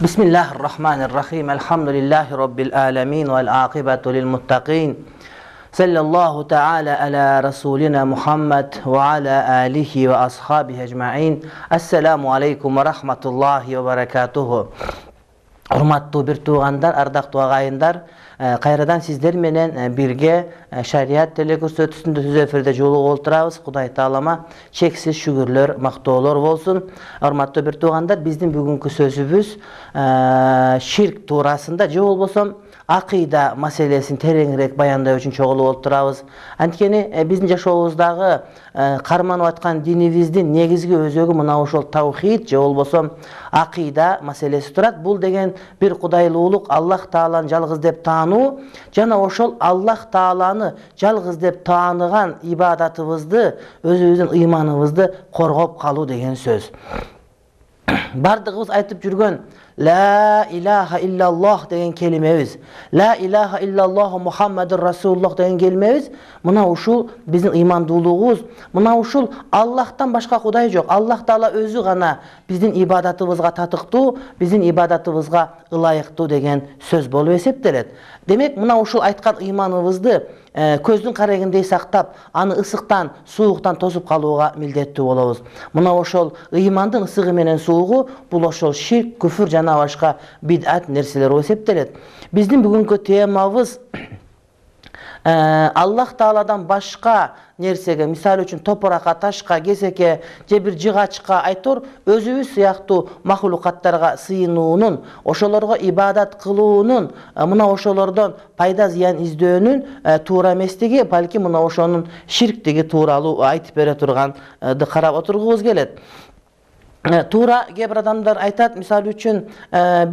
Bismillahirrahmanirrahim. Elhamdülillahi Rabbil alemin vel akibatu lil muttaqin. Sallallahu ta'ala ala Rasulina Muhammed ve ala alihi ve ashabihi ecma'in. Assalamu aleykum ve rahmatullahi ve berekatuhu. Урматтуу бир туугандар, ардактуу агайындар, кайрадан сиздер менен бирге шарият телекөрсөтүүсүндө түз эфирде жолугуп отурабыз. Кудай таалама чексиз шүгүрлөр, мактоолор болсун. Урматтуу бир туугандар, биздин бүгүнкү сөзүбүз ширк туурасында же болбосо акыйда маселесин тереңирээк баяндай үчүн чогулуп отурабыз. Анткени биздин жашообуздагы карманып аткан динибиздин негизги өзөгү мына ошол таухид же болбосо акыйда маселеси турат. Бул деген бир кудайлуулук, Аллах Тааланы жалгыз деп таануу жана ошол Аллах Тааланы жалгыз деп тааныган ибадатыбызды, өзүбүздүн ыйманыбызды коргоп калуу деген сөз. Бардыгыбыз айтып жүргөн La ilaha illallah деген келимебиз, La ilaha illallah Muhammadur Rasulullah деген келимебиз, мына ушул биздин ыймандуулугубуз, мына ушул Аллахтан башка Кудай жок. Аллах Таала өзү гана биздин ибадатыбызга татыктуу, биздин ибадатыбызга ылайыктуу деген сөз болуп эсептелет. Демек, мына ушул айткан ыйманыбызды көздүн карегиндей сактап, аны ысыктан, сууктан тосуп калууга милдеттүү болобуз. Мына ошол ыймандын ысыгы менен суугу бул ошол ширк, күфүр жана башка бидат нерселер болуп эсептелет. Биздин бүгүнкү темабыз Аллах Тааладан башка нерсеге, мисалы үчүн топуракка, ташка, кесекке же бир жыгачка айтор өзүбүз сыяктуу махлукаттарга сыйынуунун, ошолорго ибадат кылуунун, мына ошолордон пайда зыян издөөнүн туура эместиги, балки мына ошонун ширктиги тууралуу айтып бере турганды карап отургубуз келет. Туура кээ бир адамдар айтат, мисалы үчүн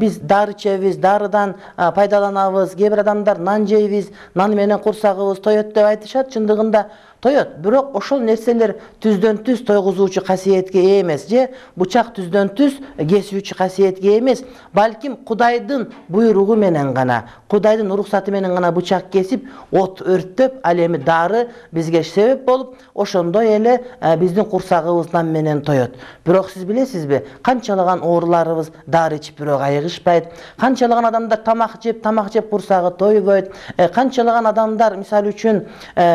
биз дары ичебиз, дарыдан пайдаланабыз, кээ бир адамдар нан жейбиз, нан менен курсагыбыз тоет деп айтышат. Чындыгында тоет, бирок ошол нерселер түздөн түз тойгузуучу касиетке ээ эмес, же бучак түздөн түз кесүүчү касиетке ээ эмес, балким Кудайдын буйругу менен гана, Кудайдын уруксаты менен гана бучак кесип, от өрттөп, ал эми дары бизге себеп болуп, ошондой эле биздин курсагыбыз нан менен тоет. Бирок сиз билесизби, канчалаган ооруларыбыз дары ичип бирок айыгышпайт, канчалаган адамдар тамак жеп курсагы тойбойт, канчалаган адамдар мисалы үчүн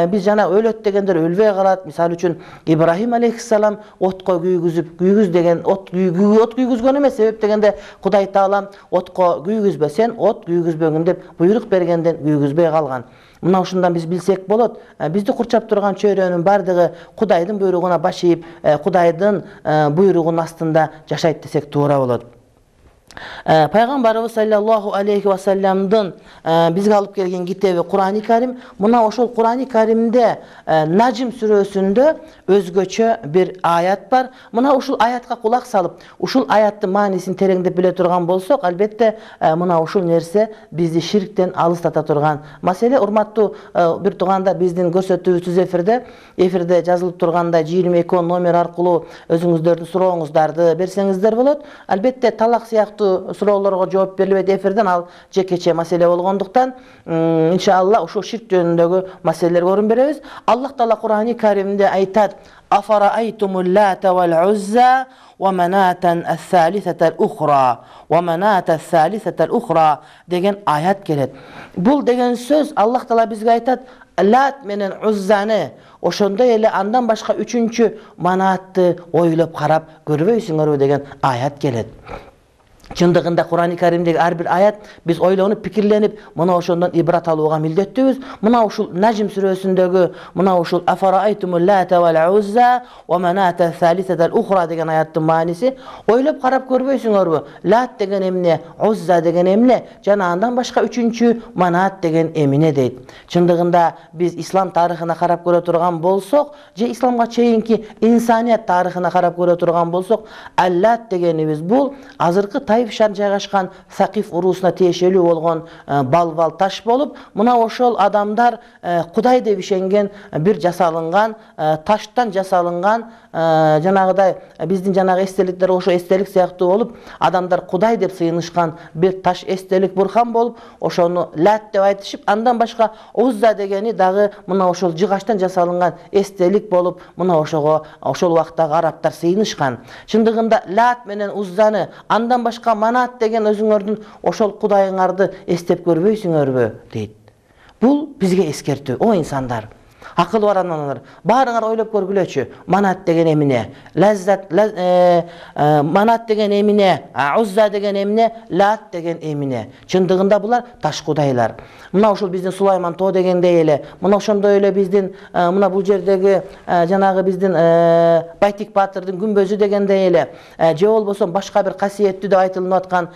биз жана өлөт дегендер өлбөй калат. Мисалы үчүн Ибрахим алейхиссалам отко күйгүз деген от күйгүзгөн эмес, себеп дегенде Кудай Таала отко күйгүзбө, сен от күйгүзбөгүн деп буйрук бергенден күйгүзбөй калган. Мына ушундан биз билсек болот, бизди курчап турган чөйрөнүн бардыгы Кудайдын буйругуна баш ийип, Кудайдын буйругунун астында жашайт десек туура болот. Пайгамбарыбыз саллаллаху алейхи ва салламдын бизге алып келген китеби Кур'ани Карим. Мына ошол Кур'ани Каримде Najm сүрөсүндө өзгөчө бир аят бар. Мына ушул аятка кулак салып, ушул аяттын маанисин тереңдеп биле турган болсок, албетте мына ушул нерсе бизди ширктен алыстата турган маселе. Урматтуу бир туугандар, биздин көрсөтүүбүз түз эфирде жазылып тургандай 22 номер аркылуу өзүңүздөрдүн сурооңуздарды берсеңиздер болот. Албетте талак сыяктуу суроолорго жооп берилбейт эфирден, ал жекече маселе болгондуктан иншалла ушул ширк жөнүндөгү маселелерге орун беребиз. Аллах Таала Кур'ани Каримде айтат: "Афараайтумул лата вал узза ва манатан ас-салисатал ухра ва манатас салисатал ухра" деген аят келет. Бул деген сөз Аллах Таала бизге айтат: Лат менен Уззаны, ошондой эле андан башка үчүнчү манатты ойлоп карап көрбөйсүңөрбү деген аят келет. Чындыгында Кур'ан-ы Каримдеги ар бир аят биз ойлонуп, пикирленип, мына ошондон ибрат алууга милдеттүүбүз. Мына ушул Нажм сүрөсүндөгү мына ушул афараайтумул лата вал узза ва маната салисатал ухра деген аяттын мааниси ойлоп карап көрбөйсүңөрбү? Лат деген эмне, Узза деген эмне, жана андан башка үчүнчү Манат деген эмне дейт. Чындыгында биз ислам тарыхына карап көрө турган болсок, же исламга чейинки инсаният тарыхына карап көрө турган болсок, Аллат дегенибиз бул азыркы Таиф шаарында жайгашкан Сакиф уруусуна тиешелүү болгон балбал таш болуп, мына ошол адамдар Кудай деп ишенген бир жасалынган таштан жасалынган жанагыдай биздин жанагы эстеликтер ошо эстелик сыяктуу болуп, адамдар Кудай деп сыйынышкан бир таш эстелик бурхан болуп, ошону Лат деп айтышып, андан башка Узза дегени дагы мына ошол жыгачтан жасалынган эстелик болуп, мына ошого ошол убактагы арабтар сыйынышкан. Чындыгында Лат менен Уззаны, андан башка Манат деген өзүңөрдүн ошол кудайыңарды эстеп көрбөйсүңөрбү дейт. Бул бизге эскертүү, о инсандар. Акылы бар аналар, баарыңар ойлоп көргүлөчү. Манат деген эмне? Манат деген эмне? Узза деген эмне? Лат деген эмне? Чындыгында булар таш кудайлар. Мына ошол биздин Сулайман тоо дегендей эле, мына ошондой эле биздин мына бул жердеги жанагы биздин Байтик Баатырдын күмбөзү дегендей эле, же болбосо башка бир касиеттүү деп айтылып аткан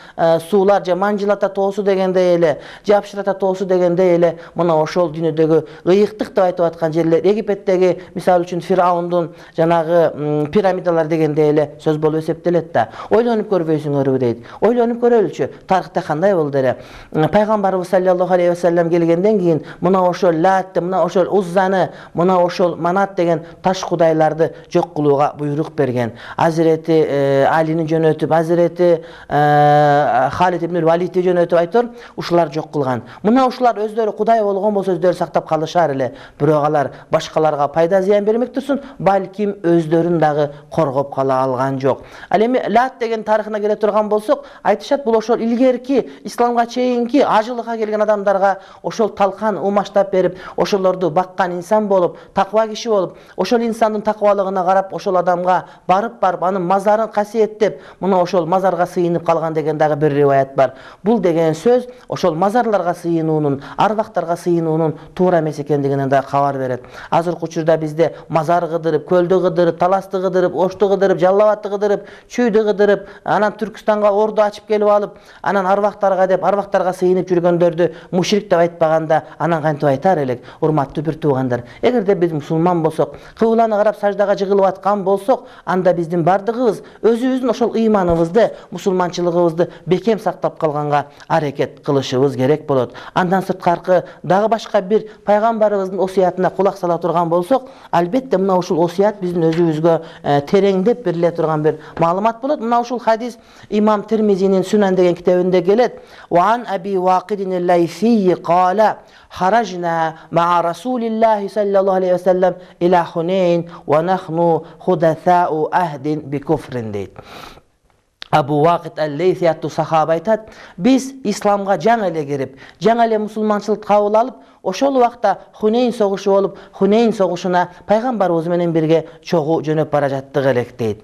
суулар, же Манжилата тоосу дегендей эле, же Апшырата тоосу дегендей эле, мына ошол дүйнөдөгү ыйыктык деп айтып аткан жерлер, Египеттеги мисалы үчүн Фираундун жанагы пирамидалар дегендей эле сөз болуп эсептелет да. Ойлонуп көрбөйсүңөрбү дейт. Ойлонуп көрөлүчү. Тарыхта кандай болду эле? Пайгамбарыбыз саллаллаху алейхи ва саллям келгенден кийин мына ошол Латты, мына ошол Уззаны, мына ошол Манат деген таш кудайларды жок кылууга буйрук берген. Азирети Алини жөнөтүп, Азирети Халид ибн Валидти жөнөтүп айтор, ушулар жок кылган. Мына ушулар өздөрү кудай болгон болсо өздөрү сактап калышар эле. Бирок алар башкаларга пайда зыян бермек турсун, балким өздөрүн дагы коргоп кала алган жок. Ал эми Лат деген тарыхына келе турган болсок, айтышат бул ошол илгерки исламга чейинки ажылыкка келген адамдарга ошол талкан умаштап берип, ошолорду баккан инсан болуп, таква киши болуп, ошол инсандын таквалыгына карап, ошол адамга барып анын мазарын касиеттеп, мына ошол мазарга сыйынып калган деген дагы бир риваят бар. Бул деген сөз ошол мазарларга сыйынуунун, арбактарга сыйынуунун туура эмес экендигинен да кабар берет. Азыркы учурда бизде мазар кыдырып, көлдү кыдырып, таласты кыдырып, ошту кыдырып, жаллабатты кыдырып, чүйдү кыдырып, анан Түркстанга орду ачып келип алып, анан арбактарга деп, арбактарга сыйынып жүргөндөрдү мушрик деп айтпаганда, анан кантип айтар элек, урматтуу бир туугандар? Эгерде биз мусулман болсок, кыбланы карап саждага жыгылып аткан болсок, анда биздин бардыгыбыз өзүбүздүн ошол ыйманыбызды, мусулманчылыгыбызды бекем сактап калганга аракет кылышыбыз керек болот. Андан сырткары дагы башка бир пайгамбарыбыздын осуятына кулак сала турган болсок, албетте мына ушул осуят биздин өзүбүзгө тереңдеп бериле турган бир маалымат болот. Мына ушул хадис имам Тирмизинин Сүнан деген китебинде келет. Ван Аби Вақидин ал-Лайси qala харажна ма Расулиллахи саллаллаху алейхи ва саллям иля Хунейн ва нахну худаtha'u ahdin bi kufrin дейт. Абу Вақид ал-Лайси аттуу сахаба айтат, биз исламга жаңы эле кирип, жаңы эле мусулманчылыкты кабыл алып, ошол убакта Хунейн согушу болуп, Хунейн согушуна пайгамбарыбыз менен бирге чогуу жөнөп бара жаттык элек дейт.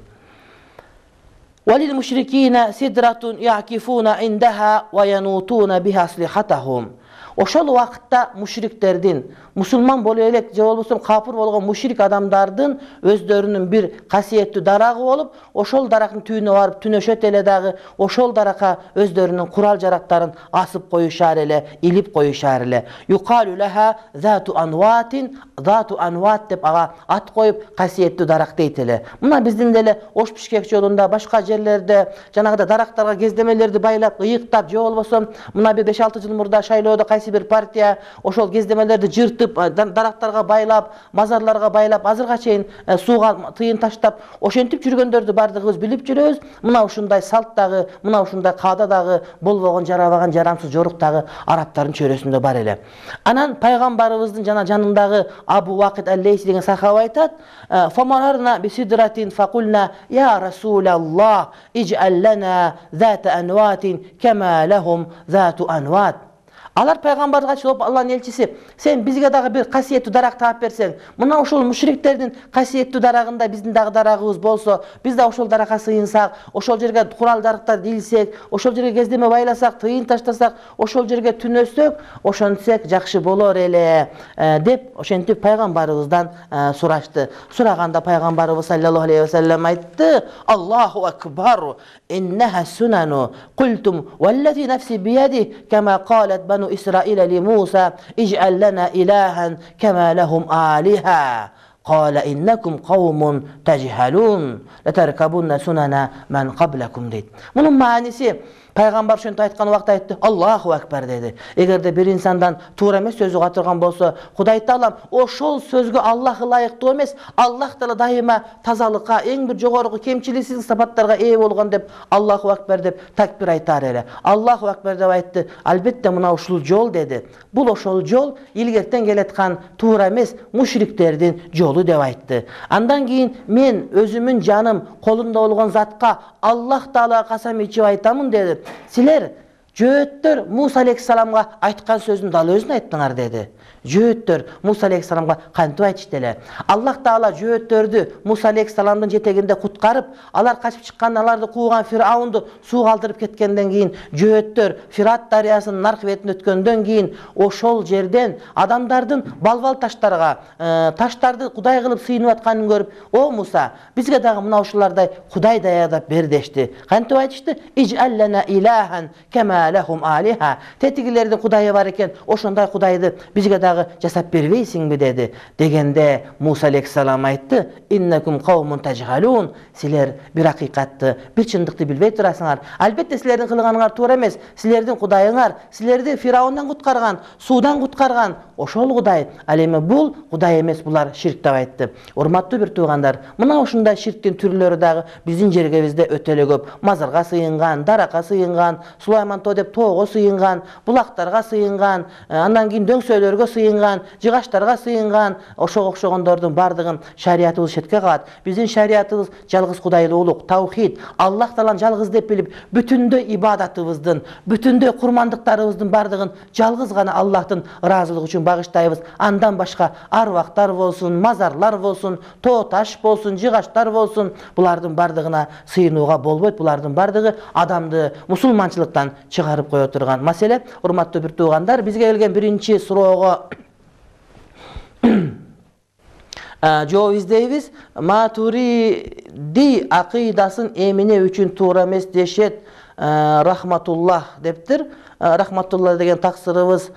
Валил мушрикина сидратун я'кифуна индаха ва янутуна биха аслихатахум. Ошол убакытта мушриктердин, мусулман боло элек же болбосо капыр болгон мушрик адамдардын өздөрүнүн бир касиеттүү дарагы болуп, ошол дарактын түбүнө барып түнөшөт эле дагы, ошол даракка өздөрүнүн курал жарактарын асып коюшар эле, илип коюшар эле. Юкалу лаха зату анватин, зату анват деп ага ат коюп, касиеттүү дарак дейт эле. Мына биздин деле Ош Бишкек жолунда, башка жерлерде жанагыда дарактарга кездемелерди байлап, ыйыктап, же болбосо мына бир 5-6 жыл мурда шайлоодо бир партия ошол кездемелерди жыртып, дарактарга байлап, мазарларга байлап, азырга чейин сууга тыйын таштап, ошентип жүргөндөрдү бардыгыбыз билип жүрөбүз. Мына ушундай салт дагы, мына ушундай каада дагы болбогон, жарабаган, жарамсыз жорук дагы арабтардын чөйрөсүндө бар эле. Анан пайгамбарыбыздын жана жанындагы Абу Вақид ал-Лайси деген сахаба айтат, "Фамарарна бисидратин факулна я Расулаллах, идж'ал лана зата анватин кама лахум зату анват." Алар пайгамбарга чылып Алланын элчиси, сен бизге дагы бир касиеттүү дарак таап берсең, мына ошол мушриктердин касиеттүү дарагында биздин дагы дарагыбыз болсо, биз да ошол даракка сыйынсак, ошол жерге курал-жарактарды илсек, ошол жерге кездеме байласак, тыйын таштасак, ошол жерге түнөсөк, ошентсек жакшы болор эле деп ошентип пайгамбарыбыздан сурашты. Сураганда пайгамбарыбыз саллаллаху алейхи ва саллям айтты: Аллаху акбар, иннаха сунану, культум валлази нафси бияди, кама қалат бану Исраиля ли Муса, идж'ал лана илахан кама лахум алиха. قال إنكم قوم تجهلون لتركبن سنن من قبلكم дейт. Мунун мааниси пайгамбар ошентип айткан убакта айтты: Аллаху акбар деди. Эгерде бир инсандан туура эмес сөзү катырган болсо, Кудай Таалам ошол сөзгө Аллах ылайыктуу эмес, Аллах Таала дайыма тазалыкка, эң бир жогорку кемчиликсиз сапаттарга ээ болгон деп Аллаху акбар деп такбир айтар эле. Аллаху акбар деп айтты. Албетте мына ушул жол деди. Бул ошол жол, илгертен келаткан туура эмес мушриктердин жолу деп айтты. Андан кийин мен өзүмүн жаным колунда болгон затка Аллах Таалага касам ичип айтамын деди. Силер жөөттөр Муса алейхиссаламга айткан сөздүн дал өзүн айттыңар деди. Жөөттөр Муса алейхиссаламга кантип айтышты эле? Аллах Таала жөөттөрдү Муса алейхиссаламдын жетегинде куткарып, алар качып чыккан, аларды кууган Фираунду сууга алдырып кеткенден кийин, жөөттөр Фират дарыясынын нарк бетине өткөндөн кийин ошол жерден адамдардын балбал таштарга, таштарды Кудай кылып сыйынып атканын көрүп, "О Муса, бизге дагы мына ушулардай Кудай даярдап бер" дешти. Кантип айтышты? "Идж'ал лана илахан кама лахум алиха." Тетигилердин Кудайы бар экен, ошондой Кудайды бизге дагы жасап бербейсиңби деди. Дегенде Муса алейхиссалам айтты: "Иннакум каумун тажхалун." Силер бир акыйкатты, бир чындыкты билбей турасыңар. Албетте силердин кылганыңар туура эмес. Силердин Кудайыңар, силерди Фираундан куткарган, суудан куткарган ошол Кудай. Ал эми бул Кудай эмес, булар ширк деп айтты. Урматтуу бир туугандар, мына ушундай ширктин түрлөрү дагы биздин жергебизде өтө эле көп. Мазарга сыйынган, даракка сыйынган, Сулайман тоо деп тоого сыйынган, булактарга сыйынган, андан кийин дөңсөөлөргө сыйынган, жыгаштарга сыйынган, ошого окшогондордун бардыгын шариятыбыз четке калат. Биздин шариятыбыз жалгыз Кудайлуулук, таухид, Аллах Тааланы жалгыз деп билип, бүтүндөй ибадатыбыздын, бүтүндөй курмандыктарыбыздын бардыгын жалгыз гана Аллахтын ыраазылыгы үчүн багыштайбыз. Андан башка арвактар болсун, мазарлар болсун, тоо таш болсун, жыгаштар болсун, булардын бардыгына сыйынууга болбойт. Булардын бардыгы адамды мусулманчылыктан чыгарып кое турган маселе. Урматтуу бир туугандар, бизге келген биринчи суроого жооп издейбиз. Матуриди акыйдасын эмне үчүн туура эмес дешет? Рахматуллах дептир. Рахматулла деген таксырыбыз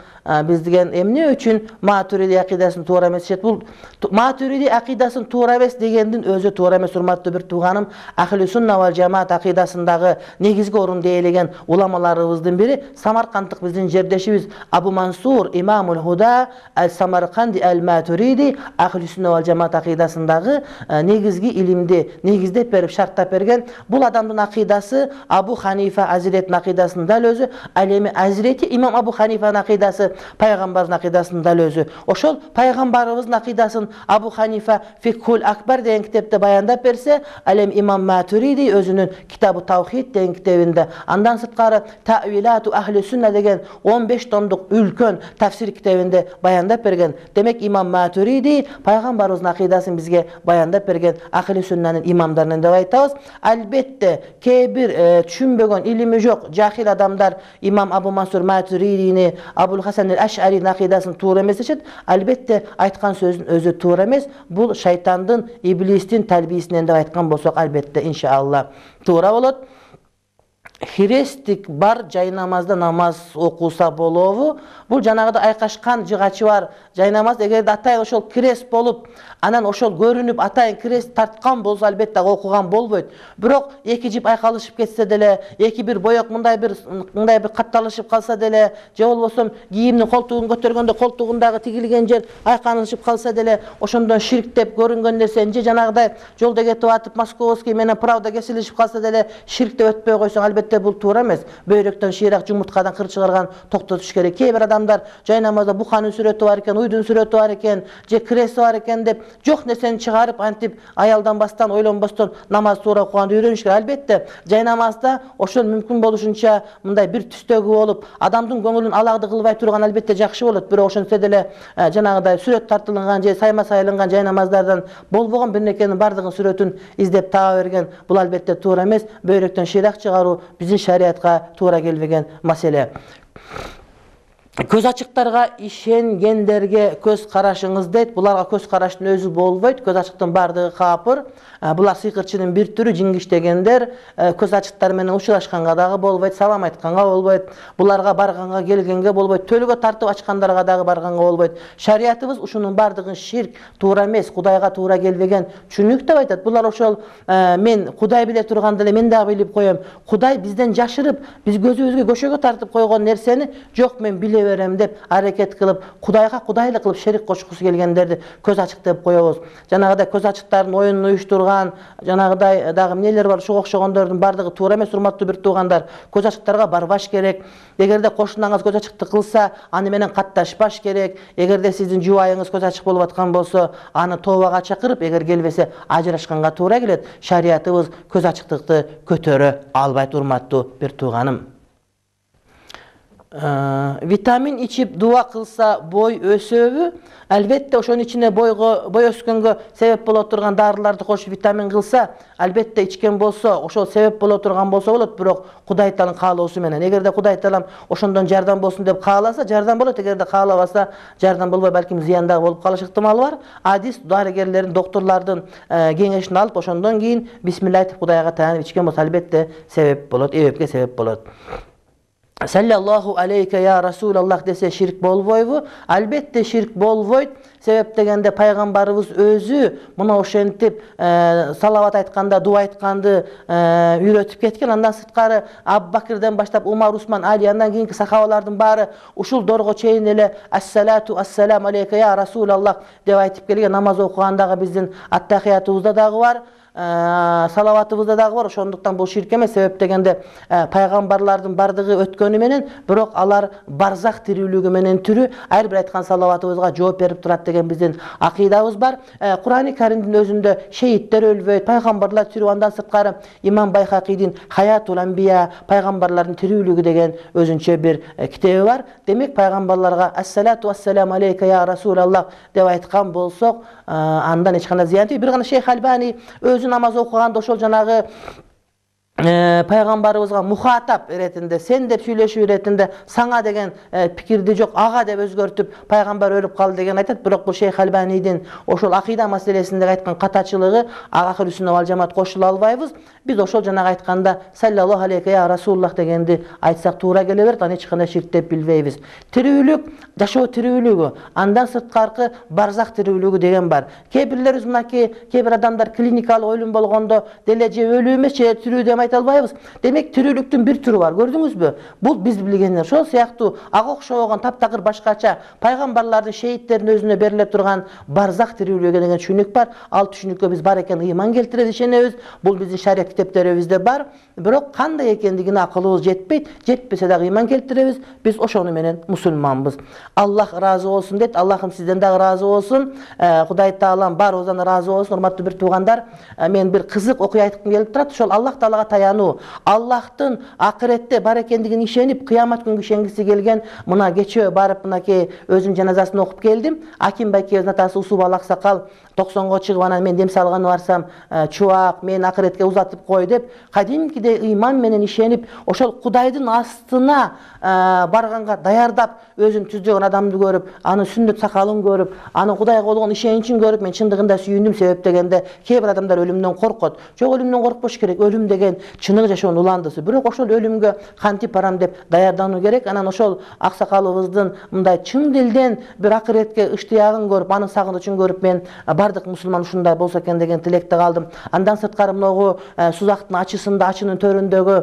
биз деген эмне үчүн Матуриди акыйдасын туура эмес дешет? Бул Матуриди акыйдасын туура эмес дегендин өзү туура эмес, урматтуу бир тууганым. Ахли сунна вал жамаат акыйдасындагы негизги орунду ээлеген уламаларыбыздын бири самаркандык биздин жердешибиз Абу Мансур Имамул Худа аль-Самарканди аль-Матуриди Ахли сунна вал жамаат акыйдасындагы негизги илимди негиздеп берип шарттап берген. Бул адамдын акыйдасы Абу Ханифа Азиретин акыйдасынын дал өзү, ал эми Азирети имам Абу Ханифанын акыйдасы пайгамбардын акыйдасынын дал өзү. Ошол пайгамбарыбыздын акыйдасын Абу Ханифа Фикхул Акбар деген китепте баяндап берсе, ал эми имам Матуриди өзүнүн Китабу Таухид деген китебинде, андан сырткары Та'вилату Ахли сунна деген 15 томдук үлкөн тафсир китебинде баяндап берген. Демек имам Матуриди пайгамбарыбыздын акыйдасын бизге баяндап берген Ахли суннанын имамдарынан деп айтабыз. Албетте кээ бир түшүнбөгөн, илими жок, жахил адамдар имам Абу Мансур Матуридини, Абул Хасан аль-Аш'аринин акыйдасын туура эмес дешет. Албетте айткан сөзүн өзү туура эмес. Бул шайтандын, иблистин талбийсинен деп айткан болсок, албетте иншалла туура болот. Хрестик бар жайнамазда намаз окуса болобу? Бул жанагыда айкашкан жыгачы бар жайнамаз, эгерде атайын ошол крест болуп, анан ошол көрүнүп атайын крест тарткан болсо, албетте окуган болбойт. Бирок эки жип айкалышып кетсе деле, эки бир боек мындай бир катталышып калса деле, же болбосо кийимдин колтугун көтөргөндө колтугундагы тигилген жер айканышып калса деле, ошондон ширк деп көрүнгөн нерсе, же жанагыдай жолдо кетип атып Московский менен Правда кесилишип калса деле, ширк деп өтпөй койсоң, албетте албетте бул туура эмес. Бөйрөктөн шыйрак жумурткадан кыр чыгарган токтотуш керек. Кээ бир адамдар жай намазда буханын сүрөтү бар экен, уйдун сүрөтү бар экен, же креси бар экен деп жок нерсени чыгарып антип аялданбастан, ойлонбостон намаз туура окуганды үйрөнүш керек. Албетте жай намазда ошол мүмкүн болушунча мындай бир түстөгү болуп, адамдын көңүлүн аларды кылбай турган албетте жакшы болот. Бирок ошентсе деле жанагыдай сүрөт тартылган же сайма сайылган жай намаздардан болбогон бир нерсенин бардыгын сүрөтүн издеп таба берген бул албетте туура эмес. Бөйрөктөн шыйрак чыгаруу биздин шариатка туура келбеген маселе. Көз ачыктарга ишенгендерге көз карашыңыз дейт. Буларга көз караштын өзү болбойт. Көз ачыктын бардыгы капыр. Булар сыйкырчынын бир түрү, жиңиштегендер. Көз ачыктар менен учурашканга дагы болбойт, салам айтканга болбойт. Буларга барганга, келгенге болбойт. Төлгө тартып ачкандарга дагы барганга болбойт. Шариятыбыз ушунун бардыгын ширк, туура эмес, Кудайга туура келбеген чүнүк деп айтат. Булар ошол мен Кудай биле турганда эле мен дагы билип коем. Кудай бизден жашырып, биз көзүбүзгө көшөгө тартып койгон нерсени жок мен биле берем деп аракет кылып, Кудайга кудайлык кылып шерик кошкусу келгендерди көз ачык деп коебуз. Жанагыдай көз ачыктардын оюнун уюштурган, жанагыдай дагы эмнелер бар, ошого окшогондордун бардыгы туура эмес, урматтуу бир туугандар. Көз ачыктарга барбаш керек. Эгерде кошунаңыз көз ачыкты кылса, аны менен катташпаш керек. Эгерде сиздин жубайыңыз көз ачык болуп аткан болсо, аны тообага чакырып, эгер келбесе ажырашканга туура келет. Шариятыбыз көз ачыктыкты көтөрө албайт, урматтуу бир тууганым. Витамин ичип дуа кылса бой өсөбү? Албетте ошонун ичине бой өскөнгө себеп боло турган дарыларды кошуп витамин кылса, албетте ичкен болсо, ошол себеп боло турган болсо болот, бирок Кудай Тааланын каалоосу менен. Эгерде Кудай Таалам ошондон жардам болсун деп кааласа, жардам болот. Эгерде каалабаса, жардам болбой, балким зыян дагы болуп калыш ыктымалы бар. Адис дарыгерлердин, доктурлардын кеңешин алып, ошондон кийин бисмилла айтып Кудайга таянып ичкен болсо, албетте себеп болот, эбепке себеп болот. Саллаллаху алейке я Расулаллах десе ширк болбойбу? Албетте ширк болбойт. Себеп дегенде пайгамбарыбыз өзү мына ошентип салават айтканда, дуа айтканды үйрөтүп кеткен. Андан сырткары Абу Бакирден баштап Умар, Усман, Али, андан кийинки сахабалардын баары ушул дорго чейин эле ассалату ассалам алейке я Расулаллах деп айтып келген. Намаз окугандагы биздин аттахиятыбызда дагы бар. Салаватыбызда дагы бар. Ошондуктан бул ширк эмес. Себеп дегенде пайгамбарлардын бардыгы өткөнү менен, бирок алар барзах тирүүлүгү менен түрү ар бир айткан салаватыбызга жооп берип турат деген биздин акыйдабыз бар. Кур'ани Каримдин өзүндө шейиттер өлбөйт, пайгамбарлар тирүү. Андан сырткары Имам Байхакийдин Хаятул Анбия, пайгамбарлардын тирүүлүгү деген өзүнчө бир китеби бар. Демек пайгамбарларга ассалату ассалам алейка я Расулаллах деп айткан болсок, андан эч кандай зыян жок. Бир гана Шейх Альбани өзү намаз окуганда ошол жанагы пайгамбарыбызга мухатап иретинде, сен деп сүйлөшүү иретинде саңа деген пикирди жок, ага деп өзгөртүп пайгамбар өлүп калды деген айтат. Бирок бул Шейх Альбанидин ошол акыйда маселесинде айткан катачылыгы Ахир Сүннат вал жамаат кошула албайбыз. Биз ошол жанагы айтканда саллаллаху алейке я Расулаллах дегенди айтсак туура келе берет. Аны эч кандай ширк деп билбейбиз. Тирүүлүк, жашоо тирүүлүгү, андан сырткаркы барзах тирүүлүгү деген бар. Кээ бирлерибиз мынакей, кээ бир адамдар клиникалык өлүм болгондо деле же өлүү эмес, же тирүү деп айта албайбыз. Демек тирүүлүктүн бир түрү бар. Көрдүңүзбү? Бул биз билгендер. Ошол сыяктуу ага окшогон таптакыр башкача пайгамбарлардын, шейиттердин өзүнө бериле турган барзах тирүүлүгү деген түшүнүк бар. Ал түшүнүккө биз бар экен ыйман келтиребиз, ишенебиз. Бул биздин шарият китептерибизде бар. Бирок кандай экендигине акылыбыз жетпейт. Жетпесе дагы ыйман келтиребиз. Биз ошону менен мусулманбыз. Аллах ыраазы болсун дейт. Аллахым сизден дагы ыраазы болсун. Кудай Таалам баарыбыздан ыраазы болсун. Урматтуу бир туугандар, мен бир кызык окуя айткым келип турат. Ошол Аллах Таалага таянуу, Аллахтын акыретте бар экендигине ишенип, кыямат күнгө ишенгиси келген. Мына кечээ барып мынакей өзүнүн жаназасын окуп келдим. Аким байкебиздин атасы Усуп Алаксакал 90го чыгып анан мен дем салганы барсам, чубак мен акыретке узатып кой деп, кадимкидей ыйман менен ишенип, ошол Кудайдын астына барганга даярдап, өзүн түздөгөн адамды көрүп, анын сүннөт сакалын көрүп, анын Кудайга болгон ишеничин көрүп, мен чындыгында сүйүндүм. Себеп дегенде кээ бир адамдар өлүмдөн коркот. Жок, өлүмдөн коркпош керек. Өлүм деген чыныгы жашоонун уландысы. Бирок ошол өлүмгө кантип барам деп даярдануу керек. Анан ошол аксакалыбыздын мындай чын дилден бир акыретке ыштыягын көрүп, анын сагынычын көрүп, мен бардык мусулман ушундай болсо экен деген тилекте калдым. Андан сырткары могу Сузактын ачысында, ачынын төрүндөгү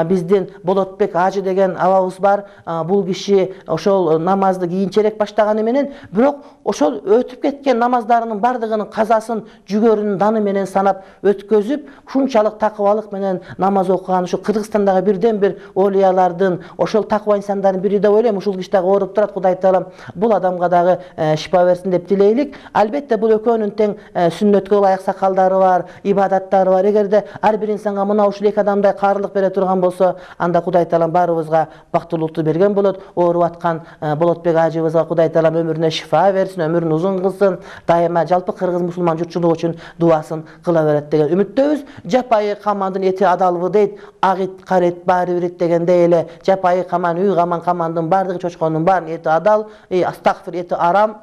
биздин Болотбек ажы деген абабыз бар. Бул киши ошол намазды кийинчерээк баштаганы менен, бирок ошол өтүп кеткен намаздарынын бардыгынын казасын жүгөрүнүн даны менен санап өткөзүп, ушунчалык такыбалык менен намаз окуган ушу Кыргызстандагы бирден бир олиялардын, ошол таква инсандардын бири деп ойлойм. Ушул киши дагы ооруп турат, Кудай Таалам бул адамга дагы шифа берсин деп тилейлик. Албетте бул экөөнүн тең сүннөткө ылайык сакалдары бар, ибадаттары бар. Эгерде ар бир инсанга мына ушул эки адамдай каарлык бере турган болсо, анда Кудай Таалам баарыбызга бактылуулукту берген болот. Ооруп аткан Болотбек ажыбызга Кудай Таалам өмүрүнө шифа берсин, өмүрүн узун кылсын, дайыма жалпы кыргыз мусулман журтчулугу үчүн дуасын кыла берет деген үмүттөбүз. Жапайы камандын эти адалбы дейт, ак ит, кара ит баары бир ит дегендей эле жапайы каман, үй камандын баардыгы чочкондун баарынын эти адал, астагфир, эти арам,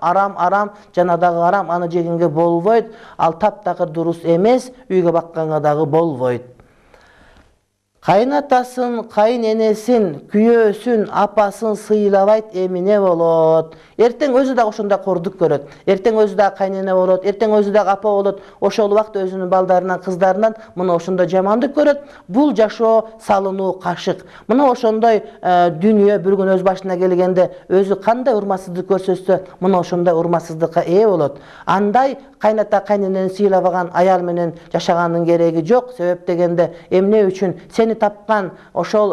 жана дагы арам, аны жегенге болбойт. Ал таптакыр дурус эмес, үйгө бакканга дагы болбойт. Кайнатасын, кайненесин, күйөөсүн, апасын сыйлабайт, эмине болот. Эртең өзү дагы ошондой кордук көрөт. Эртең өзү дагы кайнене болот, эртең өзү дагы апа болот. Ошол убакыт өзүнүн балдарынан, кыздарынан мына ошондой жамандык көрөт. Бул жашоо салынуу кашык. Мына ошондой дүнүйө бир күн өз башына келгенде өзү кандай урматсыздык көрсөтсө, мына ошондой урматсыздыкка ээ болот. Андай кайната кайненени сыйлабаган аял менен жашаганын кереги жок. Себеп дегенде эмне үчүн сени тапкан ошол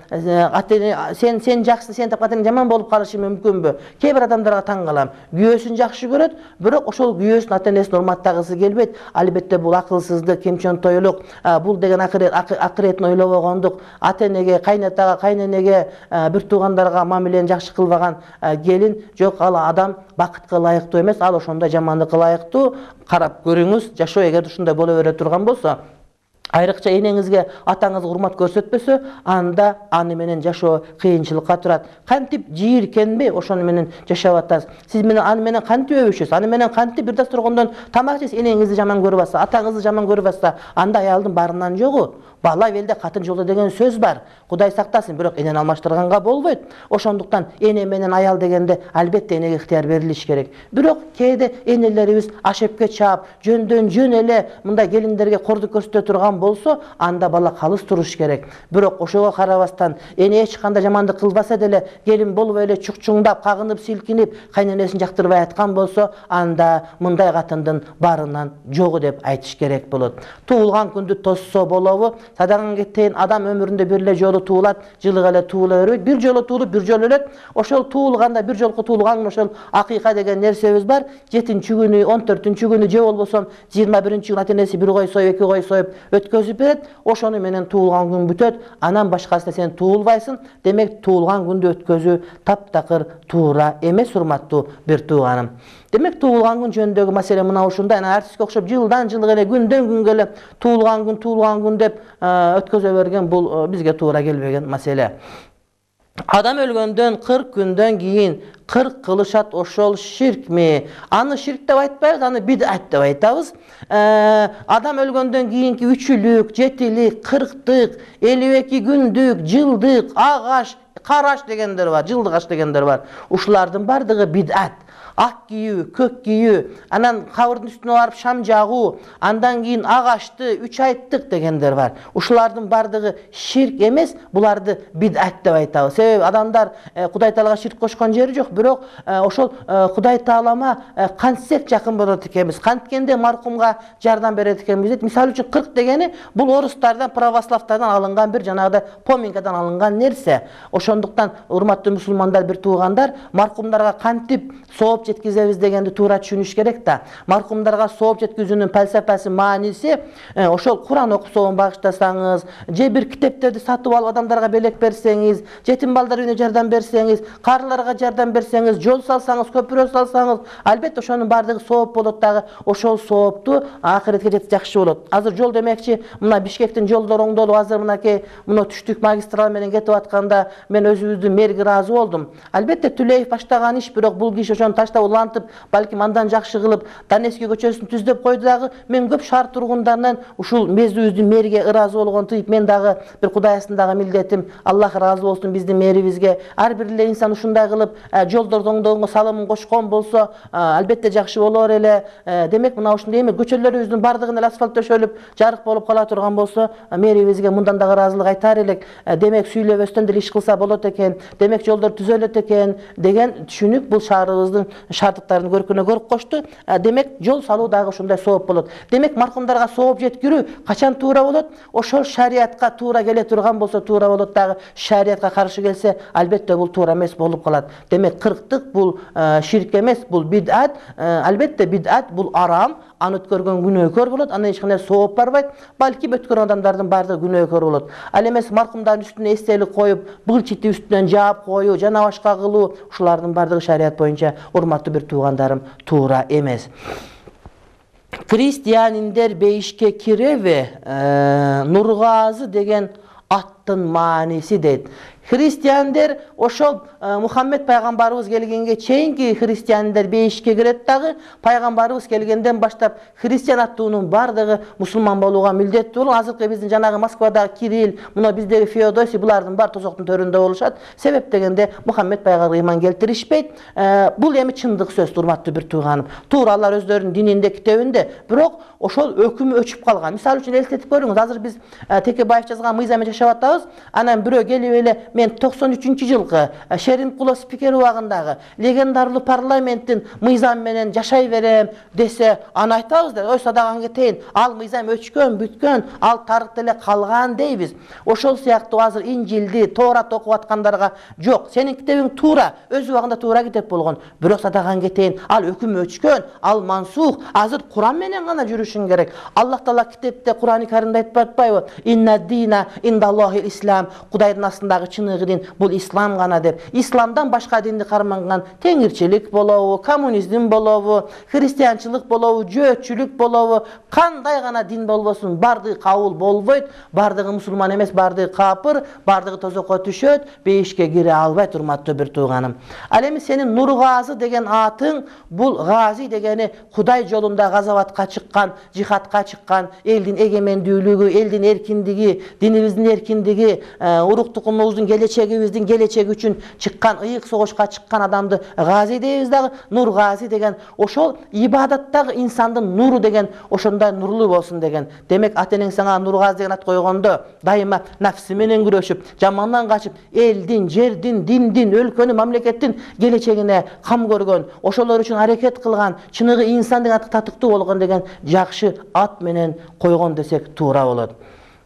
сен жакшы, сени тапкан жаман болуп калышы мүмкүнбү? Кээ бир адамдарга таң калам. Күйөөсүн жакшы көрөт, бирок ошол күйөөсүн ата-энесин урматтагысы келбейт. Албетте бул акылсыздык, кемчөнтойлук, бул деген акыретін ойлобогондук. Ата-энеге, кайнатага, кайненеге, бир туугандарга мамилени жакшы кылбаган келин жок. Ал адам бакытка ылайыктуу эмес, ал ошондой жамандыкка ылайыктуу. Карап көрүңүз, жашоо эгер ушундай боло бере турган болсо, айрыкча энеңизге, атаңызга урмат көрсөтпөсө, анда аны менен жашоо кыйынчылыкка турат. Кантип жийиркенбей ошону менен жашап атасыз. Сиз менен аны менен кантип өбүшөсүз? Аны менен кантип бир дасторкондон тамак жейсиз? Энеңизди жаман көрүп атса, атаңызды жаман көрүп атса, анда аялдын барынан жогу. Бала велде катын жолдо деген сөз бар. Кудай сактасын, бирок энени алмаштырганга болбойт. Ошондуктан эне менен аял дегенде албетте энеге ыктыяр берилиш керек. Бирок кээде энелерибиз ашепке чаап, жөндөн жөн эле мындай келиндерге кордук көрсөтө турган болсо, анда бала калыс туруш керек. Бирок ошого карабастан эне эч кандай жамандык кылбаса деле, келин болбой эле чукчуңдап, кагынып, силкинип, кайненесин жактырбай аткан болсо, анда мындай катындын барынан жогу деп айтыш керек болот. Туулган күндү тоссо болобу? Садаган кетейин, адам өмүрүндө бир эле жолу туулат, жылык эле туула бербейт. Бир жолу туулуп, бир жолу өлөт. Ошол туулганда, бир жолку туулган ошол акыйка деген нерсебиз бар. 7-нчи күнү, 14-нчү күнү, же болбосо 21-нчи күнү ата-энеси бир кой союп, 2 кой союп өткөзүп берет. Ошону менен туулган күн бүтөт. Анан башкасына сен туулбайсың. Демек, туулган күндү өткөзүү таптакыр туура эмес, урматтуу бир тууганым. Демек, туулган күн жөнүндөгү маселе мына ушундай. Артистке окшоп жылдан жылга эле, күндөн күнгө эле туулган күн деп өткөзө берген, бул бизге туура келбеген маселе. Адам өлгөндөн 40 күндөн кийин 40 кылышат, ошол ширкми? Аны ширк деп айтпайбыз, аны бидат деп айтабыз. Адам өлгөндөн кийинки 3-лүк, 7-лик, 40-тык, 52 күндүк, жылдык, агаш, караш дегендер бар, жылдык аш дегендер бар. Ушулардын бардыгы бидат. Ак кийүү, көк кийүү, анан кабырдын үстүнө барып шам жагуу, андан кийин агашты, 3 айттык дегендер бар. Ушулардын бардыгы ширк эмес, буларды бидат деп айтабыз. Себеби адамдар Кудай Таалага ширк кошкон жери жок, бирок ошол Кудай Таалама кантсек жакын болот экенбиз, канткенде маркумга жардам берет экенбиз дейт. Мисалы үчүн 40 дегени бул орустардан, православтардан алынган бир жанагыдай поминкадан алынган нерсе. Ошондуктан урматтуу мусулмандар, бир туугандар, маркумдарга кантип сооп жеткизебиз дегенди туура түшүнүш керек да. Маркумдарга сооп жеткизүүнүн фалсафасы, мааниси ошол Куран окусоон багыштасаңыз, же бир китептерди сатып алып адамдарга белек берсеңиз, жетим балдар үйүнө жардам берсеңиз, каарыларга жардам берсеңиз, жол салсаңыз, көпүрө салсаңыз, албетте ошонун бардыгы сооп болот дагы. Ошол соопту акыретке жетсе жакшы болот. Азыр жол демекчи, мына Бишкектин жолдору оңдолуп, азыр мынакей мына түштүк магистраль менен кетип атканда мен өзүбүздүн мэрге ыраазы болдум. Албетте Түлеев баштаган иш, бирок бул киши ошону таштап улантып, балким андан жакшы кылып, Донецкий көчөсүн түздөп койду дагы. Мен көп шаар тургундарынан ушул мезүүбүздүн мэрге ыраазы болгон тыйып, мен дагы бир Кудай астындагы милдетим, Аллах ыраазы болсун биздин мэрибизге. Ар бир эле инсан ушундай кылып жолдорду оңдогонго салымын кошкон болсо, албетте жакшы болор эле. Демек, мына ушундай эме көчөлөрүбүздүн бардыгына эле асфальт төшөлүп, жарык болуп кала турган болсо, мэрибизге мындан дагы ыраазылык айтар элек. Демек, сүйлөбөстөн деле иш кылса болот экен. Демек, жолдор түзөлөт экен деген түшүнүк бул шаарыбыздын шарттарын көркүнө көрүп кошту. Демек жол салуу дагы ушундай сооп болот. Демек маркумдарга сооп жеткирүү качан туура болот? Ошол шариатка туура келе турган болсо туура болот, дагы шариатка каршы келсе албетте бул туура эмес болуп калат. Демек кырктык бул ширк эмес, бул бидат. Албетте бидат бул арам, аны өткөргөн күнөөкөр болот, аны эч кандай сооп барбайт. Балки өткөргөн адамдардын баардыгы күнөөкөр болот. Ал эмес маркумдардын үстүнө эстелик коюп, былчити үстүнөн жаап коюу, жана башка кылуу, ушулардын баардыгы шариат боюнча, урматтуу бир туугандарым, туура эмес. Христианиндер бейишке киреби? Нургазы деген аттын мааниси дейт. Христиандер ошол Мухаммед пайгамбарыбыз келгенге чейинки христиандер бейишке кирет дагы, пайгамбарыбыз келгенден баштап христиан аттуунун баардыгы мусулман болууга милдеттүү болуп, азыркы биздин жанагы Москвадагы Кирилл, мына биздеги Феодосий, булардын баары тозоктун төрүндө болушат. Себеп дегенде Мухаммед пайгамбарга ыйман келтиришпейт. Бул эми чындык сөз, урматтуу бир тууганым. Туура алар өздөрүнүн дининде, китебинде, бирок ошол өкүмү өчүп калган. Мисалы үчүн элестетип көрүңүз, азыр биз Текебаев жазган Мыйзам менен жашап атабыз. Анан бирөө келип эле мен 93-жылкы Шеримкулов спикер убагындагы легендарлуу парламенттин мыйзам менен жашай берем десе, аны айтабыз да, ой садаган кетейин, ал мыйзам өчкөн, бүткөн, ал тарыхта эле калган дейбиз. Ошол сыяктуу азыр Инжилди, Тоорат окуп аткандарга жок, сенин китебиң туура, өз убагында туура китеп болгон, бирок садаган кетейин, ал өкүм өчкөн, ал мансух, азыр Куран менен гана жүрүшүң керек. Аллах Таала китепте Курани Каримде айтып атпайбы? Инна дина индаллахи ислам, Кудайдын астындагы чыныгы дин бул ислам гана деп. Исламдан башка динди карманган теңирчилик болобу, коммунизм болобу, христианчылык болобу, жөөтчүлүк болобу, кандай гана дин болбосун, бардыгы кабыл болбойт, бардыгы мусулман эмес, бардыгы капыр, бардыгы тозокко түшөт, бейишке кире албайт, урматтуу бир тууганым. Ал эми сенин Нургазы деген атың, бул гази дегени Кудай жолунда газаватка чыккан, жихадка чыккан, элдин эгемендүүлүгү, элдин эркиндиги, динибиздин эркиндиги, уруктугубуздун келечегибиздин келечеги үчүн чыккан, ыйык согушка чыккан адамды гази дейбиз дагы. Нургазы деген ошол ибадаттагы инсандын нуру деген, ошондой нурлуу болсун деген. Демек ата энең сага Нургазы деген ат койгондо дайыма нафси менен күрөшүп, жамандан качып, элдин, жердин, диндин, өлкөнүн, мамлекеттин келечегине кам көргөн, ошолор үчүн аракет кылган, чыныгы инсан деген атка татыктуу болгон деген жакшы ат менен койгон десек туура болот.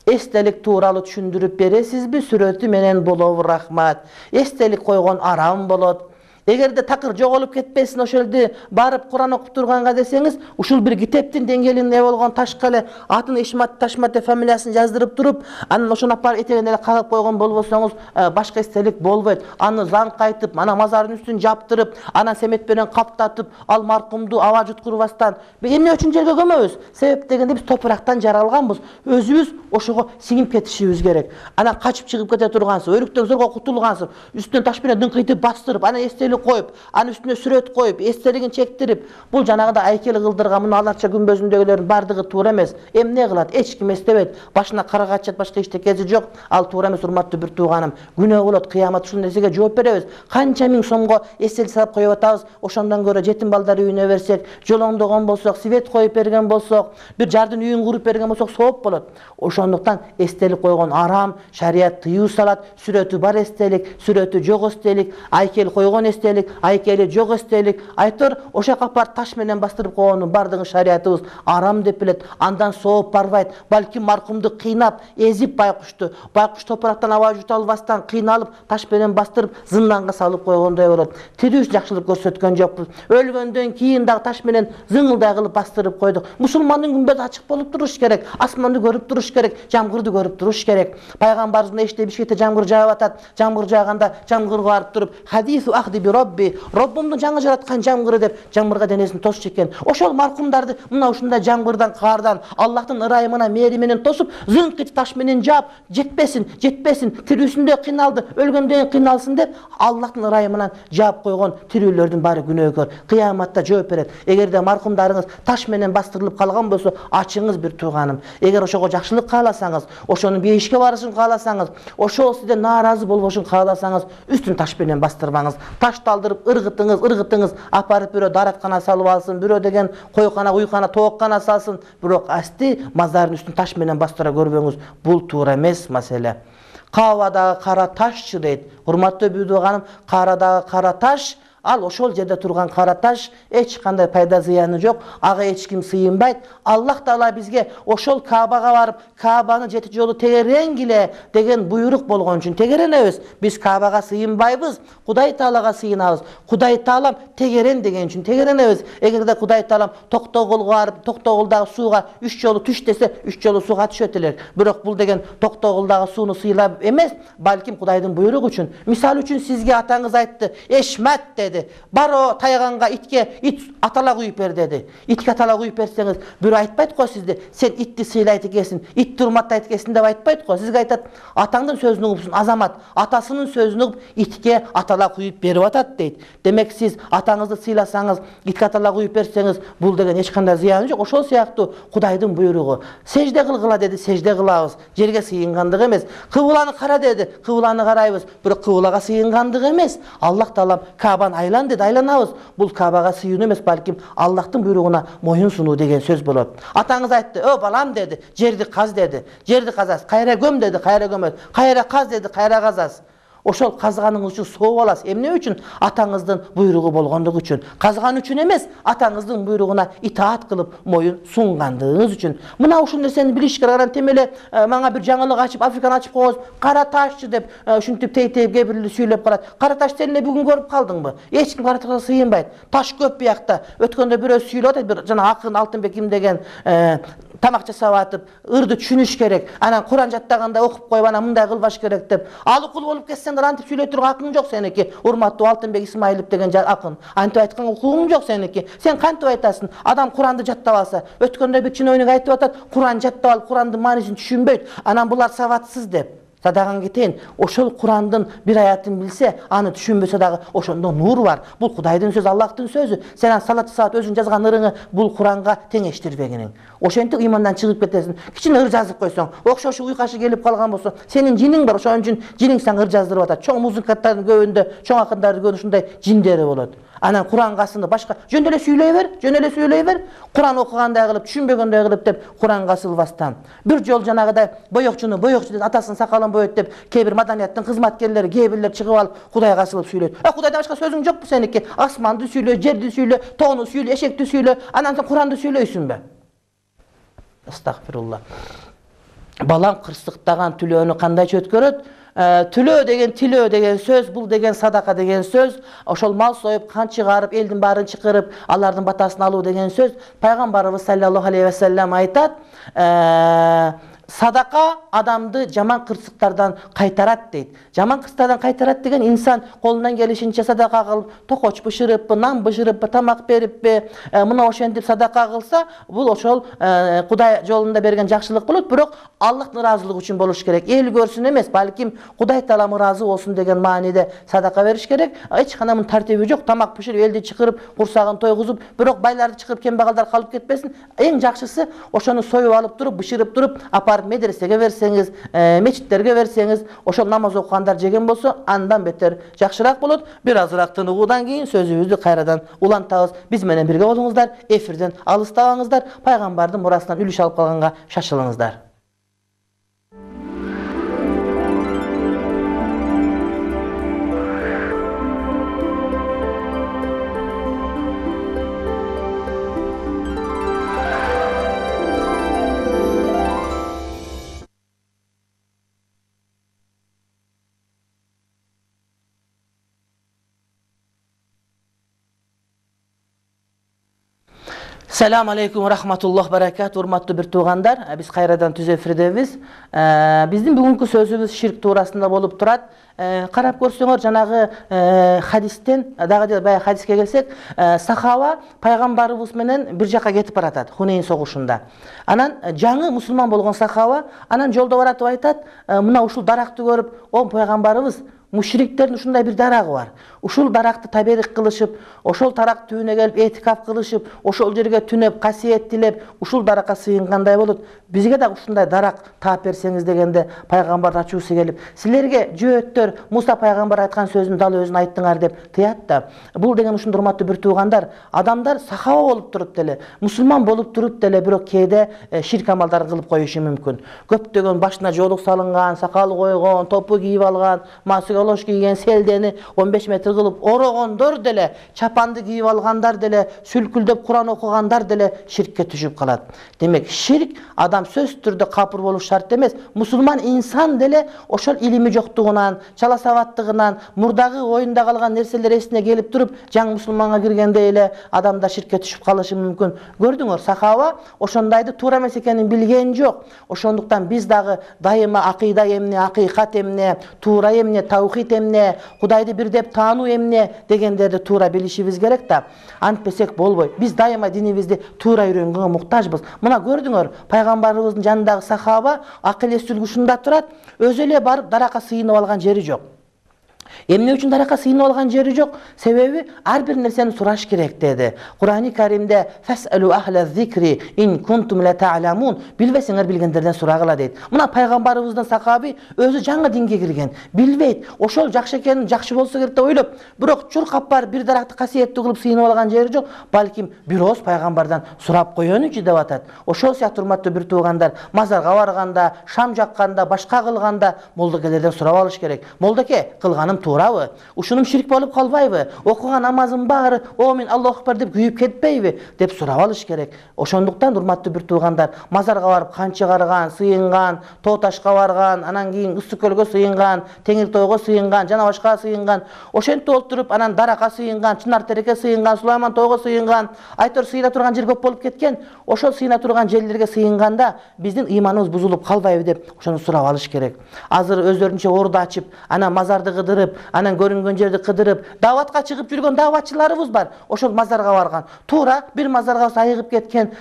Эстелик тууралуу түшүндүрүп бересизби? Сүрөтү менен болобу, рахмат. Эстелик койгон арам болот. Эгерде такыр жоголуп кетпесин, ошолду барып Куран окуп турганга десеңиз, ушул бир китептин деңгээлинде болгон ташка эле атын Ишмат Ташмат деп фамилиясын жаздырып туруп, анан ошону апарып этегине эле кагып койгон болбосоңуз, башка эстелик болбойт. Аны заң кайтып, ана мазардын үстүн жаптырып, анан семет менен каптатып, ал маркумду аба жуткурбастан, эмне үчүн жерге көмөбүз? Себеп дегенде биз топурактан жаралганбыз. Өзүбүз ошого сиңип кетишибиз керек. Анан качып чыгып кете тургансыз, өрүктөн зорго кутулгансыз, үстүнөн таш менен дыңкыйтып бастырып, анан эстелик коюп, анын үстүнө сүрөт коюп, эстелигин чектирип, бул жанагыда айкел кылдырган мына аларча күмбөзүндөгүлөрдүн баардыгы туура эмес. Эмне кылат? Эч ким эстебейт. Башына кара качат, башка эчтекеси жок. Ал туура эмес, урматтуу бир тууганым. Күнөө болот, кыямат ушул нерсеге жооп беребиз. Канча миң сомго эстелик салып коюп атабыз, ошондон көрө жетим балдар үйүнө берсек, жолоңдогон болсок, свет коюп берген болсок, бир жардын үйүн куруп берген болсок сооп болот. Ошондуктан эстелик койгон арам, шарият тыюу салат. Сүрөтү бар эстелик, сүрөтү жок эстелик, айкел койгон эстелик, айкели жок эстелик, айтор ошо капар таш менен бастырып койгондун баардыгы шариятыбыз арам деп билет. Андан сооп барбайт. Балки маркумду кыйнап, эзип байкуш топурактан аба жута албастан кыйналып, таш менен бастырып, зынданга салып койгондой болот. Тирүү жакшылык көрсөткөн жокпуз. Өлгөндөн кийин дагы таш менен зыңылдай кылып бастырып койдук. Мусулмандын күмбөзү ачык болуп туруш керек, асманды көрүп туруш керек, жамгырды көрүп туруш керек. Пайгамбарыбыз эште Бишкекте жамгыр жаап атат. Жамгыр жааганда жамгырга барып туруп, хадису ахди би робби, Роббумдун жаңы жараткан жамгыры деп жамгырга денесин тосчу экен. Ошол маркумдарды мына ушундай жамгырдан, каардан, Аллахтын ырайымына, мээри менен тосуп, зыңкыч таш менен жаап, жетпесин, тирүүсүндө кыйналды, өлгөндөн кыйналсын деп Аллахтын ырайымынан жаап койгон тирүүлөрдүн баары күнөөкөр. Кыяматта жооп берет. Эгерде маркумдарыңыз таш менен бастырылып калган болсо, ачыңыз бир тууганым. Эгер ошого жакшылык кааласаңыз, ошонун бейишке барышын кааласаңыз, ошол сизден нааразы болбошун кааласаңыз, үстүн таш менен бастырбаңыз. Ташты алдырып ыргытыңыз, апарып бирөө дараткана салып алсын, бирөө деген койкана, уйкана, тооккана салсын, бирок асти мазардын үстүн таш менен бастыра көрбөңүз. Бул туура эмес маселе. Каабадагы кара ташчы дейт. Урматтуу бүйдөгөнүм, каарадагы кара таш ал ошол жерде турган кара таш эч кандай пайда зыяны жок, ага эч ким сыйынбайт. Аллах Таала бизге ошол Каабага барып, Каабаны 7 жолу тегеренгиле деген буйрук болгон үчүн тегеренебиз. Биз Каабага сыйынбайбыз, Кудай Таалага сыйынабыз. Кудай Таалам тегерен деген үчүн тегеренебиз. Эгерде Кудай Таалам Токтогулга барып, Токтогулдагы сууга 3 жолу түш десе, 3 жолу сууга түшөт элек. Бирок бул деген Токтогулдагы сууну сыйлап эмес, балким Кудайдын буйругу үчүн. Мисалы үчүн сизге атаңыз айтты, "Эшмат" деди. "Баро тайганга итке ит атала куюп бер" деди. Итке атала куюп берсеңиз, бирөө айтпайт го сизди, "Сен итти сыйлайт экенсиң, итти урматтайт экенсиң" деп айтпайт го. Сизге айтат, "Атаңдын сөзүн угупсуң, азамат, атасынын сөзүн угуп итке атала куюп берип атат" дейт. Демек сиз атаңызды сыйласаңыз, итке атала куюп берсеңиз, бул деген эч кандай зыяны жок. Ошол сыяктуу Кудайдын буйругу. Сежде кылгыла деди, сежде кылабыз. Жерге сыйынгандык эмес. Кыбланы кара деди, кыбланы карайбыз. Бирок кыблага сыйынгандык эмес. Аллах Таалам Каабаны айлан деди, айланабыз. Бул Каабага сыйынуу эмес, балким Аллахтын буйругуна моюн сунуу деген сөз болот. Атаңыз айтты, "О балам" деди, "Жерди каз" деди. Жерди казасыз. "Кайра көм" деди, "Кайра көмөт". "Кайра каз" деди, "Кайра казасыз". Ошол казганыңыз үчүн сооп аласыз. Эмне үчүн? Атаңыздын буйругу болгондугу үчүн. Казган үчүн эмес, атаңыздын буйругуна итаат кылып моюн сунгандыгыңыз үчүн. Мына ушул нерсени билиш керек. Анан темеле мага бир жаңылык ачып, Африканы ачып койгоз, "Кара ташчы" деп ушинтип тей-тей кээ бирлер сүйлөп калат. Кара таш сен эле бүгүн көрүп калдыңбы? Эч ким кара ташка сыйынбайт. Таш көп биякта. Өткөндө бирөө сүйлөп атат, бир жана акын Алтынбек ким деген тамак жасап атып, ырды түшүнүш керек. Анан Куран жаттаганда окуп коюп, анан мындай кылбаш керек деп. Ал укул болуп кетсең, антип сүйлөй турган акың жок сеники. Урматтуу Алтынбек Исмаилов деген акын. Антип айткан укугуң жок сеники. Сен кантип айтасың? Адам Куранды жаттап алса, өткөндө бир чиновник айтып атат, Куран жаттап алып, Курандын маанисин түшүнбөйт. Анан булар сабатсыз деп. Садаган кетейин. Ошол Курандын бир аятын билсе, аны түшүнбөсө дагы ошондо нур бар. Бул Кудайдын сөзү, Аллахтын сөзү. Сен ан салат саат өзүң жазган ырыңы бул Куранга теңештирбегиниң. Ошентип ыймандан чыгып кетесиң. Кичине ыр жазып койсоң, окшошу уйкашы келип калган болсо, сенин жиниң бар, ошон үчүн жиниң сага ыр жаздырып атат. Чоң музыканттардын көбүндө, чоң акындардын көбүндө ушундай жиндери болот. Анан Куранга асылып башка жөн эле сүйлөй бер, жөн эле сүйлөй бер. Куран окугандай кылып, түшүнбөгөндөй кылып деп Куранга асылбастан. Бир жол жанагыдай боёкчуну боёкчу атасынын сакалын боёйт деп кээ бир маданияттын кызматкерлери, кээ бирлер чыгып алып Кудайга асылып сүйлөйт. Кудайдан башка сөзүң жокпу сеники? Асманды сүйлө, жерди сүйлө, тоону сүйлө, эшекти сүйлө, анан сен Куранды сүйлөйсүңбү? Астагфирулла. Балам кырсыктаган түлөөнү кандайча өткөрөт? Түлөө деген сөз, бул деген садака деген сөз, ошол мал союп, кан чыгарып, элдин баарын чакырып, алардын батасын алуу деген сөз. Пайгамбарыбыз саллаллаху алейхи ва саллям айтат, садака адамды жаман кырсыктардан кайтарат дейт. Жаман кырсыктардан кайтарат деген инсан колунан келишинче садака кылып, токоч бышырыппы, нан бышырыппы, тамак бериппи, мына ошентип садака кылса, бул ошол Кудай жолунда берген жакшылык болот, бирок Аллахтын ыраазылыгы үчүн болуш керек. Эл көрсүн эмес, балким Кудай Таалам ыраазы болсун деген мааниде садака бериш керек. Эч кандай мунун тартиби жок. Тамак бышырып, элди чакырып, курсагын тойгузуп, бирок байларды чакырып кембагалдар калып кетпесин. Эң жакшысы ошону союп алып туруп, бышырып туруп, медресеге берсеңиз, мечиттерге берсеңиз, ошол намаз окугандар жеген болсо, андан бетер жакшыраак болот. Бир азыраак тыныгуудан кийин сөзүбүздү кайрадан улантабыз. Биз менен бирге болуңуздар, эфирден алыстабаңыздар, пайгамбардын мурасынан үлүш алып калганга шашылыңыздар. Салам алейкум рахматуллах баракат, урматтуу бир туугандар. Биз кайрадан түз эфирдебиз. Биздин бүгүнкү сөзүбүз ширк туурасында болуп турат. Карап көрсөңөр, жанагы хадистен, дагы баягы хадиске келсек, сахаба пайгамбарыбыз менен бир жака кетип баратат Хунейн согушунда. Анан жаңы мусулман болгон сахаба анан жолдо баратып айтат, мына ушул даракты көрүп, "О пайгамбарыбыз, мушриктердин ушундай бир дарагы бар. Ушул даракты таберик кылышып, ошол тарак түбүнө келип этикаф кылышып, ошол жерге түнөп, касиет тилеп, ушул даракка сыйынгандай болот. Бизге дагы ушундай дарак таап берсеңиз" дегенде пайгамбар ачуусу келип, "Силерге жөөттөр Муса пайгамбар айткан сөздүн дал өзүн айттыңар" деп тыят да. Бул деген ушундай урматтуу бир туугандар, адамдар сахаба болуп туруп деле, мусулман болуп туруп деле, бирок кээде ширк амалдарын кылып коюшу мүмкүн. Көптөгөн башына жоолук салынган, сакал койгон, топу кийип алган, масыга колош кийген селдени 15 метр кылып орогондор деле, чапанды кийип алгандар деле, сүлкүлдөп Куран окугандар деле ширкке түшүп калат. Демек, ширк адам сөзсүз түрдө капыр болуш шарт эмес. Мусулман инсан деле ошол илими жоктугунан, чала сабаттыгынан, мурдагы оюнда калган нерселер эсине келип туруп, жаңы мусулманга киргенде эле адамдар ширкке түшүп калышы мүмкүн. Көрдүңөр, сахаба ошондайды туура эмес экенин билген жок. Ошондуктан биз дагы дайыма акыйда эмне, акыйкат эмне, туура эмне, таухид эмне, Кудайды бир деп таануу эмне дегендерди туура билишибиз керек да. Антпесек болбойт. Биз дайыма динибизди туура үйрөнгөнгө муктажбыз. Мына көрдүңөр, пайгамбарыбыздын жанындагы сахаба акыл эс үлгүшүндө турат, өзү эле барып даракка сыйынып алган жери жок. Эмне үчүн даракка сыйынып алган жери жок? Себеби ар бир нерсени сураш керек деди. Кур'ани Каримде фасалу ахла зикри ин кунтум ла та'ламун, билбесеңер билгендерден сурагыла дейт. Мына пайгамбарыбыздын сахаби өзү жаңы динге кирген, билбейт. Ошол жакшы экенин, жакшы болсо керек деп ойлоп, бирок чуркап барып бир даракты касиеттүү кылып сыйынып алган жери жок. Балким бир ооз пайгамбардан сурап коеюнчу деп атат. Ошол сыяктуу урматтуу бир туугандар, мазарга барганда, шам жакканда, башка кылганда молдокелерден сурап алыш керек. Молдоке, кылганым туурабы? Ушунум ширк болуп калбайбы? Окуган намазым баары о мен Аллаху акбар деп күйүп кетпейби деп сурап алыш керек. Ошондуктан урматтуу бир туугандар, мазарга барып канчы чыгарган, сыйынган, тоо ташка барган, анан кийин ысык көлгө сыйынган, теңир тойго сыйынган, жана башка сыйынган, ошентип олтуруп анан даракка сыйынган, чынар тереке сыйынган, Сулайман тойго сыйынган, айтор сыйына турган жер көп болуп кеткен. Ошол сыйына турган жерлерге сыйынганда биздин ыйманыбыз бузулуп калбайбы деп ошону сурап алыш керек. Азыр өздөрүнчө орду ачып, анан мазарды кыдырып, анан көрүнгөн жерди кыдырып, даватка чыгып жүргөн даватчыларыбыз бар. Ошол мазарга барган. Туура бир мазарга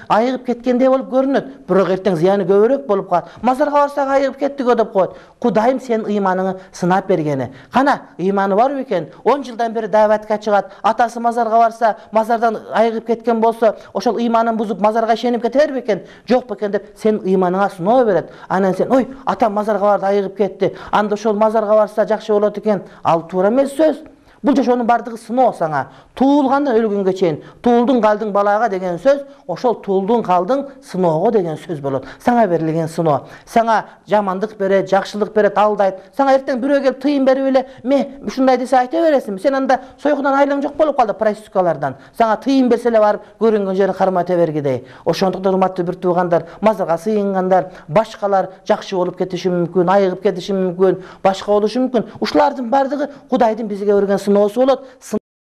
айыгып кеткендей болуп көрүнөт. Бирок эртең зыяны көбүрөөк болуп калат. Мазарга барсак айыгып кеттик деп коет. Кудайым сенин ыйманыңы сынап бергени. Кана, ыйманы бар бекен? 10 жылдан бери даватка чыгат. Атасы мазарга барса, мазардан айыгып кеткен болсо, ошол ыйманын бузуп мазарга ишенип кетер бекен? Жок бекен деп сенин ыйманыңа сыноо берет. Анан сен, ой, атам мазарга барды айыгып кетти. Анда ошол мазарга барса жакшы болот экен. Ал туура эмес сөз. Бул жашоонун бардыгы сыноо сага. Туулгандан өлгөнгө чейин туулдуң калдың балага деген сөз, ошол туулдуң калдың сыноого деген сөз болот. Сага берилген сыноо. Сага жамандык берет, жакшылык берет, алдайт. Сага эртең бирөө келип тыйын берип эле, "Ме ушундай десе айта бересиңби? Сен анда сойгундан айлаң жок болуп калды проституткалардан." Сага тыйын берсе эле барып көрүнгөн жерин кармата бергидей. Ошондуктан урматтуу бир туугандар, мазарга сыйынгандар, башкалар жакшы болуп кетиши мүмкүн, айыгып кетиши мүмкүн, башка болушу мүмкүн. Ушулардын бардыгы Кудайдын бизге берген сыноосу болот.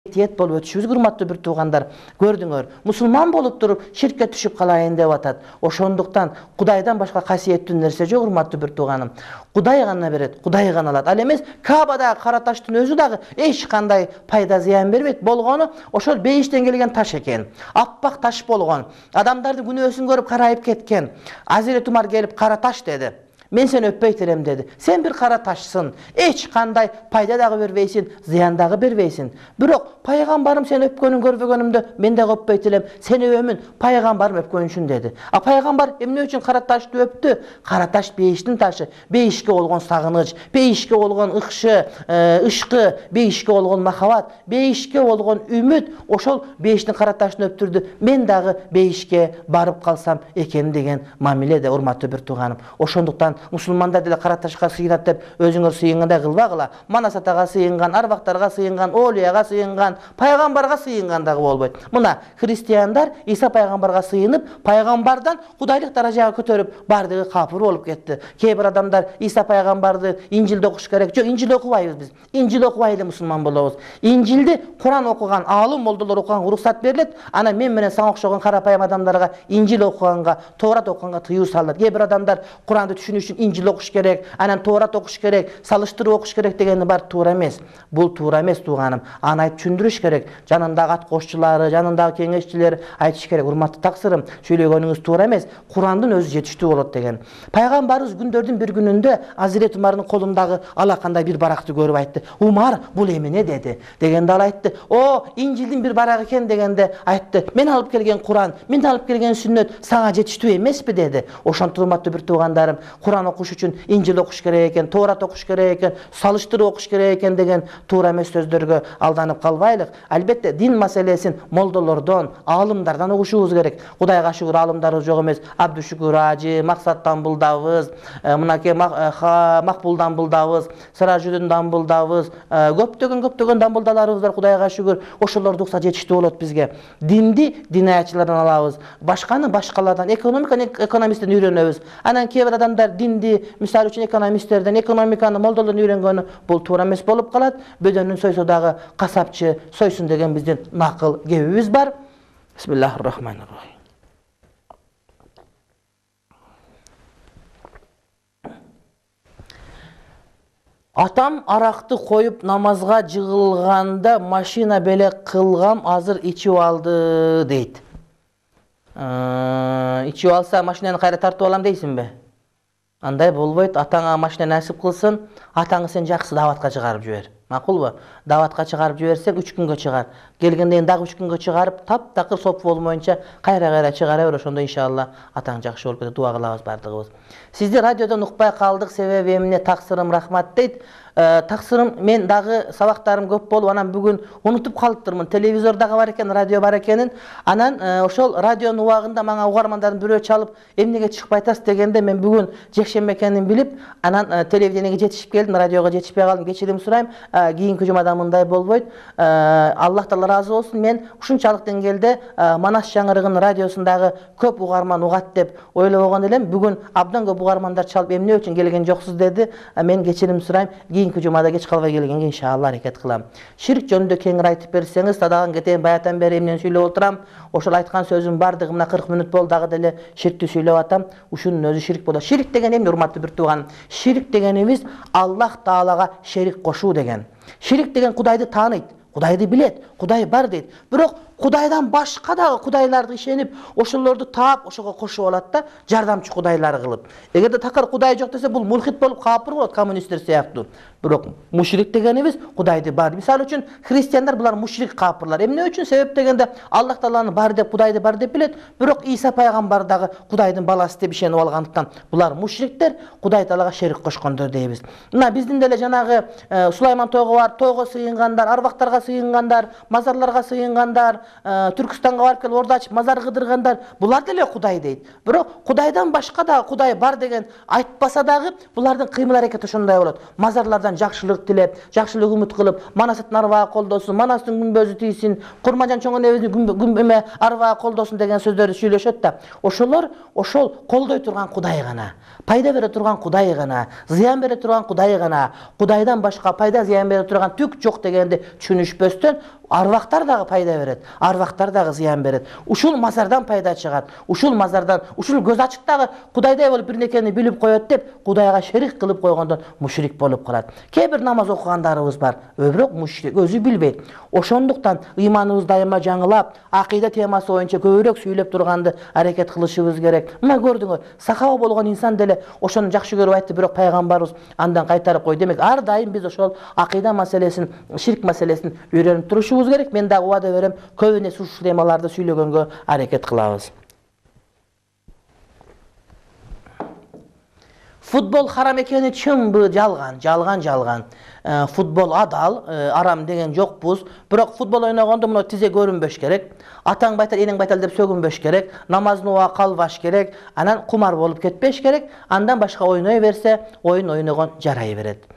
Тиет болуп өтүшүбүз урматтуу бир туугандар. Көрдүңөр, мусулман болуп туруп ширкке түшүп калайын деп атат. Ошондуктан Кудайдан башка касиеттүү нерсе жок урматтуу бир тууганым. Кудай гана берет, Кудай гана алат. Ал эмес Каабадагы кара таштын өзү дагы эч кандай пайда зыян бербейт. Болгону ошол бейиштен келген таш экен. Аппак таш болгон. Адамдардын күнөөсүн көрүп карайып кеткен. Азирет Умар келип кара таш деди. Мен сени өппөйт элем деди. Сен бир кара ташсың. Эч кандай пайда дагы бербейсиң, зыян дагы бербейсиң. Бирок пайгамбарым сени өпкөнүн көрбөгөнүмдө мен дагы өппөйт элем. Сени өбөмүн, пайгамбарым өпкөн үчүн деди. А пайгамбар эмне үчүн кара ташты өптү? Кара таш бейиштин ташы. Бейишке болгон сагыныч, бейишке болгон ышкы, бейишке болгон махабат, бейишке болгон үмүт ошол бейиштин кара ташын өптүрдү. Мен дагы бейишке барып калсам экен деген мамиледе урматтуу бир тууганым. Ошондуктан мусулмандар деле кара ташка сыйынат деп өзүңөр сыйынгандай кылбагыла. Манас атага сыйынган, арбактарга сыйынган, олияга сыйынган, пайгамбарга сыйынган дагы болбойт. Мына христиандар Иса пайгамбарга сыйынып, пайгамбардан кудайлык даражага көтөрүп, бардыгы капыр болуп кетти. Кээ бир адамдар Иса пайгамбарды Инжилде окуш керек. Жок, Инжил окубайбыз биз. Инжил окубай эле мусулман болобуз. Инжилди Куран окуган, алым молдолор окуганга уруксат берилет. Анан мен менен сага окшогон карапайым адамдарга Инжил окуганга, Тоорат окуганга тыюу салынат. Кээ бир адамдар Куранды түшүнүш үчүн Инжил окуш керек, анан Тоорат окуш керек, салыштырып окуш керек дегени бар туура эмес. Бул туура эмес тууганым. Аны айтып түшүндүрүш керек. Жанындагы ат кошчулары, жанындагы кеңешчилер айтыш керек. Урматтуу таксырым, сүйлөгөнүңүз туура эмес. Курандын өзү жетиштүү болот деген. Пайгамбарыбыз күндөрдүн бир күнүндө Азирет Умардын колундагы алакандай бир баракты көрүп айтты. Умар, бул эмне деди? Дегенде ал айтты, "О, Инжилдин бир барагы экен" дегенде айтты, "Мен алып келген Куран, мен алып келген сүннөт сага жетиштүү эмеспи" деди. Ошонтип урматтуу бир туугандарым, Куран Куран окуш үчүн Инжил окуш керек экен, Тоорат окуш керек экен, салыштырып окуш керек экен деген туура эмес сөздөргө алданып калбайлык. Албетте дин маселесин молдолордон, аалымдардан угушубуз керек. Кудайга шүгүр, аалымдарыбыз жок эмес. Абдушүкүр Ажы, Максаттан булдабыз, мынакей Макбулдан булдабыз, Сыражүдүндан булдабыз, көптөгөн дамбылдаларыбыз бар, Кудайга шүгүр. Ошолорду укса жетиштүү болот бизге. Динди динаятчылардан алабыз, башканы башкалардан, экономиканы экономисттен үйрөнөбүз. Анан кээ бир адамдар динди, мисалы үчүн экономисттерден, экономиканы молдолордон үйрөнгөнү бул туура эмес болуп калат. Бөдөнүн сойсо дагы касапчы сойсун деген биздин накыл кебибиз бар. Бисмиллахир-рахманир-рахим. Атам аракты коюп намазга жыгылганда машина белек кылгам, азыр ичип алды дейт. Ичип алса машинаны кайра тартып алам дейсиңби? Андай болбойт. Атаңа машина насип кылсын, атаңы сен жакшы даватка чыгарып жибер. Макулбу? Даватка чыгарып жиберсең 3 күнгө чыгар. Келгенден дагы 3 күнгө чыгарып, таптакыр соп болмоюнча кайра чыгара бер. Ошондо иншалла атаң жакшы болуп кетет. Дуа кылабыз бардыгыбыз. Сизди радиодон укпай калдык, себеби эмне таксырым рахмат дейт. Таксырым, мен дагы сабактарым көп болуп, анан бүгүн унутуп калыптырмын. Телевизор дагы бар экен, радио бар экенин. Анан ошол радионун убагында мага угармандардын бирөө чалып, эмнеге чыкпай атасыз дегенде мен бүгүн жекшемби экенин билип, анан телевидениеге жетишип келдим, радиого жетишпей калдым. Кечирим сурайм. Кийинки жумада мындай болбойт. Аллах таала ыраазы болсун. Мен ушунчалык деңгээлде Манас жаңырыгынын радиосундагы көп угарман угат деп ойлобогон элем. Бүгүн абдан көп угармандар чалып, эмне үчүн келген жоксуз деди. Мен кечирим сурайм. Кийинки жумада кеч калбай келгенге иншалла аракет кылам. Ширк жөнүндө кеңири айтып берсеңиз, садаган кетейин, баятан бери эмнени сүйлөп отурам. Ошол айткан сөзүм бардыгы мына 40 мүнөт болду, дагы деле ширкти сүйлөп атам. Ушунун өзү ширк болот. Ширк деген эмне, урматтуу бир тууган? Ширк дегенибиз Аллах Таалага шерик кошуу деген. Ширик деген Кудайды тааныйт, Кудайды билет, Кудай бар дейт. Бирок Кудайдан башка дагы кудайларды ишенип, ошолорду таап, ошого кошуп алат да, жардамчы кудайлар кылып. Эгерде такыр Кудай жок десе, бул мулхид болуп капыр болот, коммунисттер сыяктуу. Бирок мушрик дегенибиз Кудайды бар. Мисалы үчүн христиандар булар мушрик капырлар. Эмне үчүн? Себеп дегенде Аллах Тааланы бар деп, Кудайды бар деп билет, бирок Иса пайгамбар дагы Кудайдын баласы деп ишенип алгандыктан булар мушриктер, Кудай Таалага шерик кошкондор дейбиз. Мына биздин деле жанагы Сулайман тойго барып, тойго сыйынгандар, арбактарга сыйынгандар, мазарларга сыйынгандар, Түркстанга барып келип орда ачып мазар кыдыргандар, булар деле Кудай дейт. Бирок Кудайдан башка дагы Кудай бар деген айтпаса дагы, булардын кыймыл аракети ошондой болот. Мазарлардан жакшылык тилеп, жакшылык үмүт кылып, Манастын арбагы колдосун, Манастын күнбөзү тийсин, Курманжан чоң энебиздин күнбөмө арбагы колдосун деген сөздөрдү сүйлөшөт да. Ошолор ошол колдой турган Кудай гана, пайда бере турган Кудай гана, зыян бере турган Кудай гана, Кудайдан башка пайда зыян бере турган түк жок дегенди түшүнүшпөстөн, арбактар дагы пайда берет, арбактар дагы зыян берет. Ушул мазардан пайда чыгат. Ушул мазардан, ушул көз ачык дагы Кудайдай болуп бир нерсени билип коет деп, Кудайга шерик кылып койгондон мушрик болуп калат. Кээ бир намаз окугандарыбыз бар, бирок мушрик өзү билбейт. Ошондуктан ыйманыбыз дайыма жаңылап, акыйда темасы боюнча көбүрөөк сүйлөп турганды аракет кылышыбыз керек. Мына көрдүңөр, сахаба болгон инсан деле ошону жакшы көрүп айтты, бирок пайгамбарыбыз андан кайтарып кой. Демек, ар дайым биз ошол акыйда маселесин, ширк маселесин үйрөнүп турушубуз керек. Мен дагы убада берем, көбүнө ушул темаларды сүйлөгөнгө аракет кылабыз. Футбол харам экени чынбы? Жалган. Футбол адал, арам деген жокпуз. Бирок футбол ойногондо мына тизе көрүнбөш керек. Атаң байтал, энең байтал деп сөгүнбөш керек. Намаздын убагы калбаш керек. Анан кумар болуп кетпеш керек. Андан башка ойной берсе, оюн ойногон жарай берет.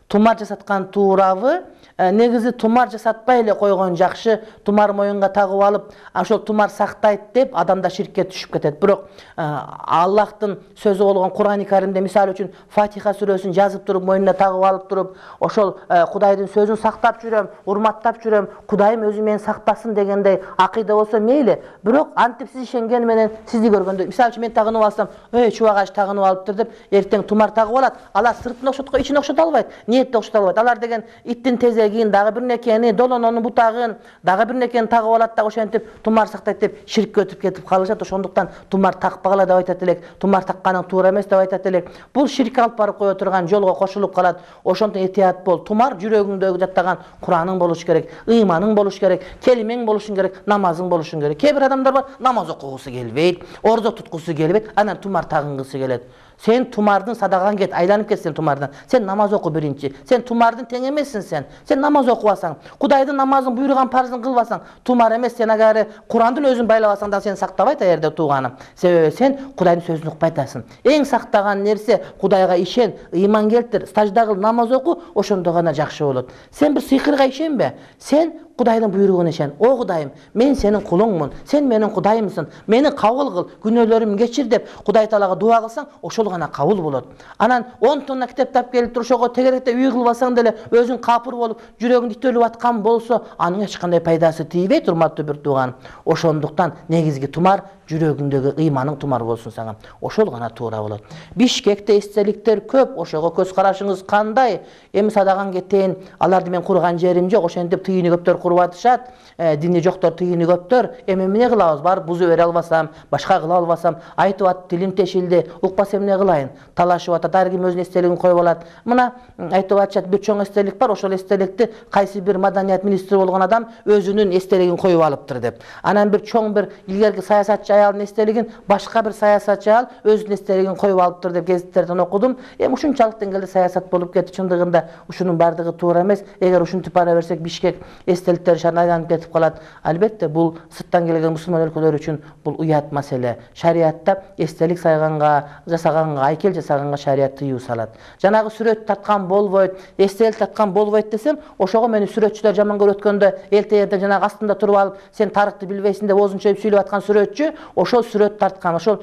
Тумар жасаткан туурабы? Негизи тумар жасатпай эле койгон жакшы. Тумар моюнга тагып алып, ошол тумар сактайт деп адамда ширкке түшүп кетет. Бирок Аллахтын сөзү болгон Кур'ан-ы Каримде мисалы үчүн Фатиха сүрөсүн жазып туруп, моюнуна тагып алып туруп, ошол Кудайдын сөзүн сактап жүрөм, урматтап жүрөм, Кудайым өзү мени сактасын дегендей акыйда болсо мейли. Бирок антип сиз ишенгени менен сизди көргөндө, мисалы үчүн мен тагынып алсам, чубагаш тагынып алыптыр деп, эртең тумар тагып алат. Алар сыртын окшоткон, ичин окшото албайт, ниетти окшото албайт. Алар деген иттин тезегин, дагы бир нерсени, долононун бутагын, дагы бир нерсени тагып алат да ошентип тумар сактайт деп ширкке өтүп кетип калышат. Ошондуктан тумар такпагыла деп айтат элек, тумар такканың туура эмес деп айтат элек. Бул ширкке алып барып кое турган жолго кошулуп калат. Ошондон этият бол. Тумар жүрөгүңдөгү жаттаган Кураның болуш керек, ыйманың болуш керек, келимең болушун керек, намазың болушун керек. Кээ бир адамдар бар, намаз окугусу келбейт, орзо туткусу келбейт, анан тумар тагынгысы келет. Сен тумардын садаган кет, айланып кет сен тумардан. Сен намаз оку биринчи. Сен тумардын тең эмессиң сен. Сен намаз окубасаң, Кудайдын намазын буйруган парзын кылбасаң, тумар эмес, сен агары Курандын өзүн байлабасаң да сени сактабайт а жерде тууганым. Себеби сен Кудайдын сөзүн укпай атасың. Эң сактаган нерсе Кудайга ишен, ыйман келтир, сажда кыл, намаз оку, ошондо гана жакшы болот. Сен бир сыйкырга ишенбе. Сен Кудайдын буйругуна ишен. О Кудайым, мен сенин кулуңмун. Сен менин Кудайымсың. Мени кабыл кыл, күнөөлөрүмдү кечир деп Кудай Таалага дуа кылсаң, ошол гана кабыл болот. Анан 10 тонна китеп тап келип туруп ошого тегеректе үй кылбасаң деле өзүң капыр болуп, жүрөгүң итөлүп аткан болсо, анын эч кандай пайдасы тийбейт, урматтуу бир тууган. Ошондуктан негизги тумар жүрөгүңдөгү ыйманың тумар болсун сага. Ошол гана туура болот. Бишкекте эстеликтер көп, ошого көз карашыңыз кандай? Эми садаган кетейин, аларды мен курган жерим жок, ошентип тыйыны көптөр куруп атышат. Дини жоктор тыйыны көптөр. Эми эмне кылабыз? Бар бузу бере албасам, башка кыла албасам, айтып ат, тилим тешилди, укпаса эмне кылайын? Талашып атат, ар ким өзүнүн эстелигин коюп алат. Мына айтып атышат, бир чоң эстелик бар, ошол эстеликти кайсы бир маданият министри болгон адам өзүнүн эстелигин коюп алыптыр деп. Анан бир чоң бир илгерки саясатчы аялдын эстелигин башка бир саясатчы аял өзүнүн эстелигин коюп алыптыр деп гезиттерден окудум. Эми ушунчалык деңгээлде саясат болуп кетти. Чындыгында ушунун бардыгы туура эмес. Эгер ушинтип бара берсек, Бишкек эстеликтер шаарына айланып кетип калат. Албетте бул сырттан келген мусулман өлкөлөр үчүн бул уят маселе. Шариатта эстелик сайганга, жасаганга, айкел жасаганга шариат тыюу салат. Жанагы сүрөт тарткан болбойт, эстелик тарткан болбойт десем, ошого мени сүрөтчүлөр жаман көрүп өткөндө элтеерде жанагы астында туруп алып, сен тарыхты билбейсиң деп оозун чөйүп сүйлөп аткан сүрөтчү, ошол сүрөт тарткан, ошол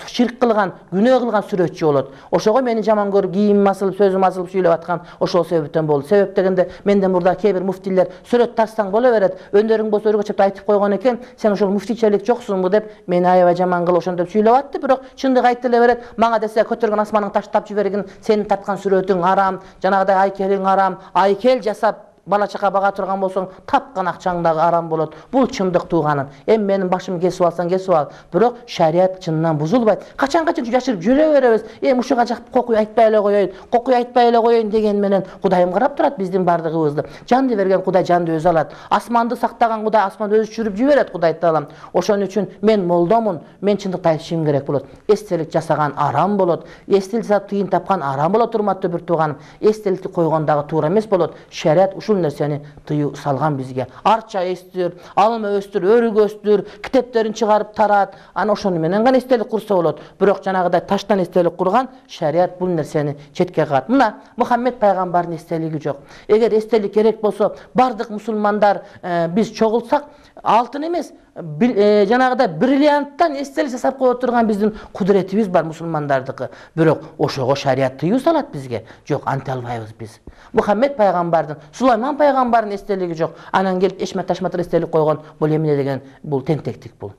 ширк кылган, күнөө кылган сүрөтчү болот. Ошого мени жаман көрүп, кийимим асылып, сөзүм асылып сүйлөп аткан ошол себептен болду. Себеп дегенде менден мурда кээ бир муфтилер сүрөт тартсаң боло берет, өндөрүң болсо өргөчөп айтып койгон экен, сен ошол муфтичелик жоксуңбу деп мени аябай жаман кылып ошондоп сүйлөп атты. Бирок чындык айтып эле берет. Мага десе көтөргөн асманын таштап жибергин, сенин тарткан сүрөтүң арам, жанагыдай айкелиң арам, айкел жасап бала чака бага турган болсоң, тапкан акчаң дагы арам болот. Бул чындык тууганым. Эми менин башымды кесип алсаң кесип ал. Бирок шариат чынынан бузулбайт. Качан жашырып жүрө беребиз. Эми ушуга жакып кокуй айтпай эле коеюн, кокуй айтпай эле коеюн деген менен Кудайым карап турат биздин бардыгыбызды. Жанды берген Кудай жанды өзү алат. Асманды сактаган Кудай асманды өзү чүрүп жиберет, Кудай Таалам. Ошон үчүн мен молдомун, мен чындыкты айтышым керек болот. Эстелик жасаган арам болот. Эстелик жасап тыйын тапкан арам болот, урматтуу бир тууганым. Эстеликти койгондагы туура эмес болот. Шариат ушул нерсени тыюу салган бизге. Арча эстир, алма өстүр, өрүк өстүр, китептерин чыгарып тарат. Ана ошону менен гана эстелик курса болот. Бирок жанагыдай таштан эстелик курган шариат бул нерсени четке кагат. Мына Мухаммед пайгамбардын эстелиги жок. Эгер эстелик керек болсо, бардык мусулмандар биз чогулсак, алтын эмес, жанагыдай бриллианттан эстелик жасап кое турган биздин кудуретибиз бар мусулмандардыкы. Бирок ошого шариат тыюу салат бизге. Жок, анте албайбыз биз. Мухаммед пайгамбардын, Сулайман пайгамбардын эстелиги жок. Анан келип эшмет ташматыр эстелик койгон, бул эмне деген, бул тентектик бул.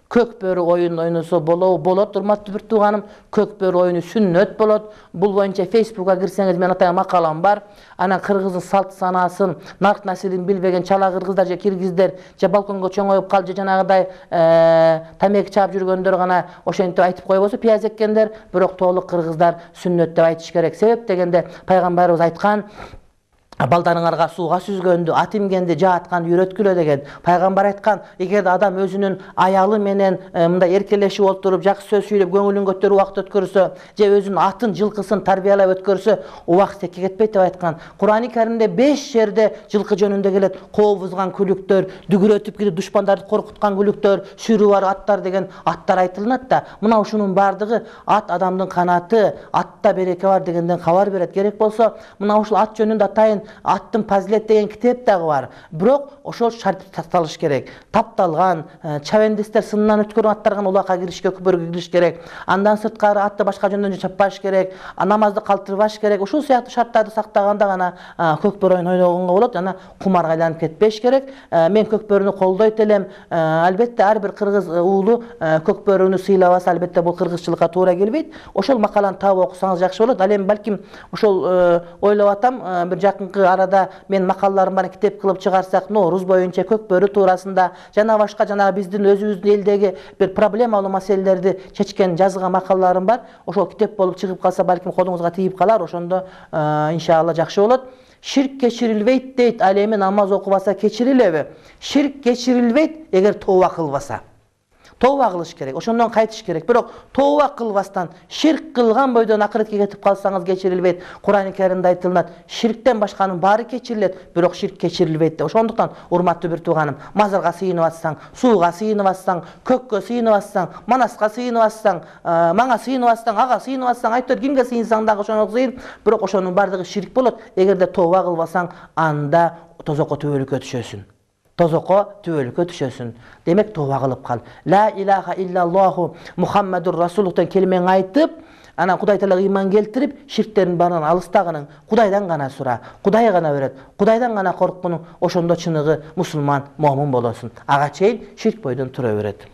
Көк бөрү оюн ойносо болот, урматтуу бир тууганым. Көк бөрү оюну сүннөт болот. Бул боюнча Facebook'ка кирсеңиз мен атайын макалам бар. Анан кыргыздын салт санасын, нарк насилин билбеген чала кыргыздар же киргиздер же балконго чоңоюп калып же жанагыдай тамеки чаап жүргөндөр гана ошентип айтып койбосо пияз эккендер, бирок толук кыргыздар сүннөт деп айтыш керек. Себеп дегенде пайгамбарыбыз айткан, балдарыңарга сууга сүзгөндү, ат имгенди жаатканды үйрөткүлө деген. Пайгамбар айткан, эгерде адам өзүнүн аялы менен мындай эркелешип отуруп, жакшы сөз сүйлөп, көңүлүн көтөрүп убакыт өткөрсө, же өзүнүн атын, жылкысын тарбиялап өткөрсө, убакыт секке кетпейт деп айткан. Кур'ани Каримде 5 жерде жылкы жөнүндө келет. Кообузган күлүктөр, дүгүрөтүп кетип душмандарды коркуткан күлүктөр, сүрү бар аттар деген аттар айтылынат да. Мына ушунун бардыгы ат адамдын канаты, атта береке бар дегенден кабар берет. Керек болсо, мына ушул ат жөнүндө атайын аттын Пазилет деген китеп дагы бар. Бирок ошол шарт такталыш керек. Тапталган, чабендистер сынынан өткөргөн аттарга улакка киришке, көпөргө кириш керек. Андан сырткары атты башка жөндөн чаппаш керек, намазды калтырбаш керек. Ушул сыяктуу шарттарды сактаганда гана көк бөрү ойногонго болот. Жана кумарга айланып кетпеш керек. Мен көк бөрүнү колдойт элем. Албетте ар бир кыргыз уулу көк бөрүнү сыйлабаса, албетте бул кыргызчылыкка туура келбейт. Ошол макаланы таап окусаңыз жакшы болот. Ал эми балким ошол ойлоп атам, бир жакынкы арада мен макалаларым бар китеп кылып чыгарсак, Норуз боюнча көк бөрү туурасында жана башка жана биздин өзүбүздүн элдеги бир проблемалуу маселелерди чечкен жазган макалаларым бар. Ошол китеп болуп чыгып калса, балким колуңузга тийип калар. Ошондо иншалла жакшы болот. Ширк кечирилбейт дейт, ал эми намаз окубаса кечирилеби? Ширк кечирилбейт эгер тооба кылбаса. Тооба кылыш керек, ошондон кайтыш керек. Бирок тооба кылбастан, ширк кылган бойдон акыретке кетип калсаңыз кечирилбейт. Кур'ан-ы Каримде айтылат, ширктен башканын баары кечирилет, бирок ширк кечирилбейт деп. Ошондуктан урматтуу бир тууганым, мазарга сыйынып атсаң, сууга сыйынып атсаң, көккө сыйынып атсаң, манаска сыйынып атсаң, мага сыйынып атсаң, ага сыйынып атсаң, айтор кимге сыйынсаң дагы ошого сыйын, бирок ошонун баардыгы ширк болот. Эгерде тооба кылбасаң, анда тозокко түбөлүккө түшөсүң. Демек тооба кылып кал. Ла илаха иллаллаху Мухаммадур Расулухтан келмең айтып, анан Кудай Таалага ыйман келтирип, ширктердин баарынан алыстагының, Кудайдан гана сура, Кудай гана берет, Кудайдан гана корккунуң, ошондо чыныгы мусулман, момун болосуң. Ага чейин ширк бойдон тура берет.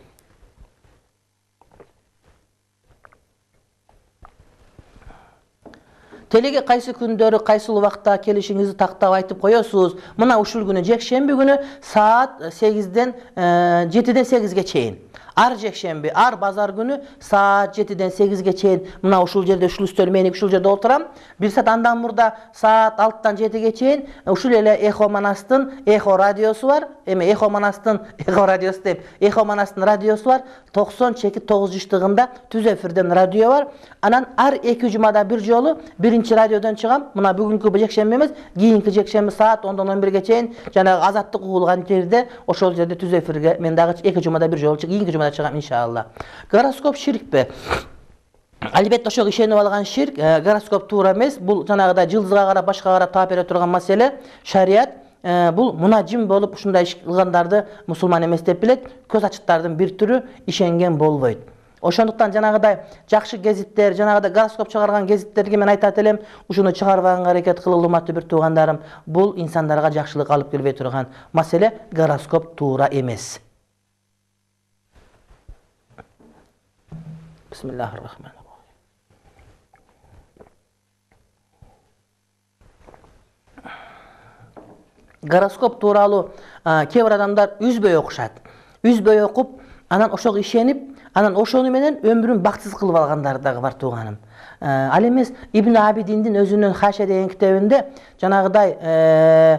Телеге кайсы күндөрү, кайсы убакта келишиңизди тактап айтып коесуз. Мына ушул күнү жекшемби күнү саат 8ден 7ден 8ге чейин. Ар жекшемби, ар базар күнү саат 7ден 8ге чейин мына ушул жерде ушул үстөл меник ушул жерде отурам. Бир саат андан мурда саат 6дан 7ге чейин ушул эле Эхо Манастын Эхо радиосу бар. Эми Эхо Манастын Эхо радиосу деп, Эхо Манастын радиосу бар. 90-9 жыштыгында түз эфирден радио бар. Анан ар 2 жумада бир жолу биринчи радиодон чыгам. Мына бүгүнкү жекшемби эмес, кийинки жекшемби саат 10дан 11ге чейин жанагы азаттык угулган жерде ошол жерде түз эфирге мен дагы 2 жумада бир жолу кийинки чыгам иншалла. Гороскоп ширкпи? Албетте ошого ишенип алган ширк, гороскоп туура эмес. Бул жанагыдай жылдызга карап, башка карап таап бере турган маселе. Шарият бул мунаджим болуп ушундай иш кылгандарды мусулман эмес деп билет. Көз ачыктардын бир түрү, ишенген болбойт. Ошондуктан жанагыдай жакшы гезиттер, жанагыдай гороскоп чыгарган гезиттерге мен айтат элем, ушуну чыгарбаганга аракет кылгыла, урматтуу бир туугандарым. Бул инсандарга жакшылык алып келбей турган маселе, гороскоп туура эмес. Бисмиллахир-рахманир-рахим. Гороскоп тууралуу кээ бир адамдар үзбөй окушат. Үзбөй окуп, анан ошого ишенип, анан ошону менен өмүрүн бактысыз кылып алгандар дагы бар тууганым. Ал эмес Ибн Абидиндин өзүнүн Хаша деген китебинде жанагыдай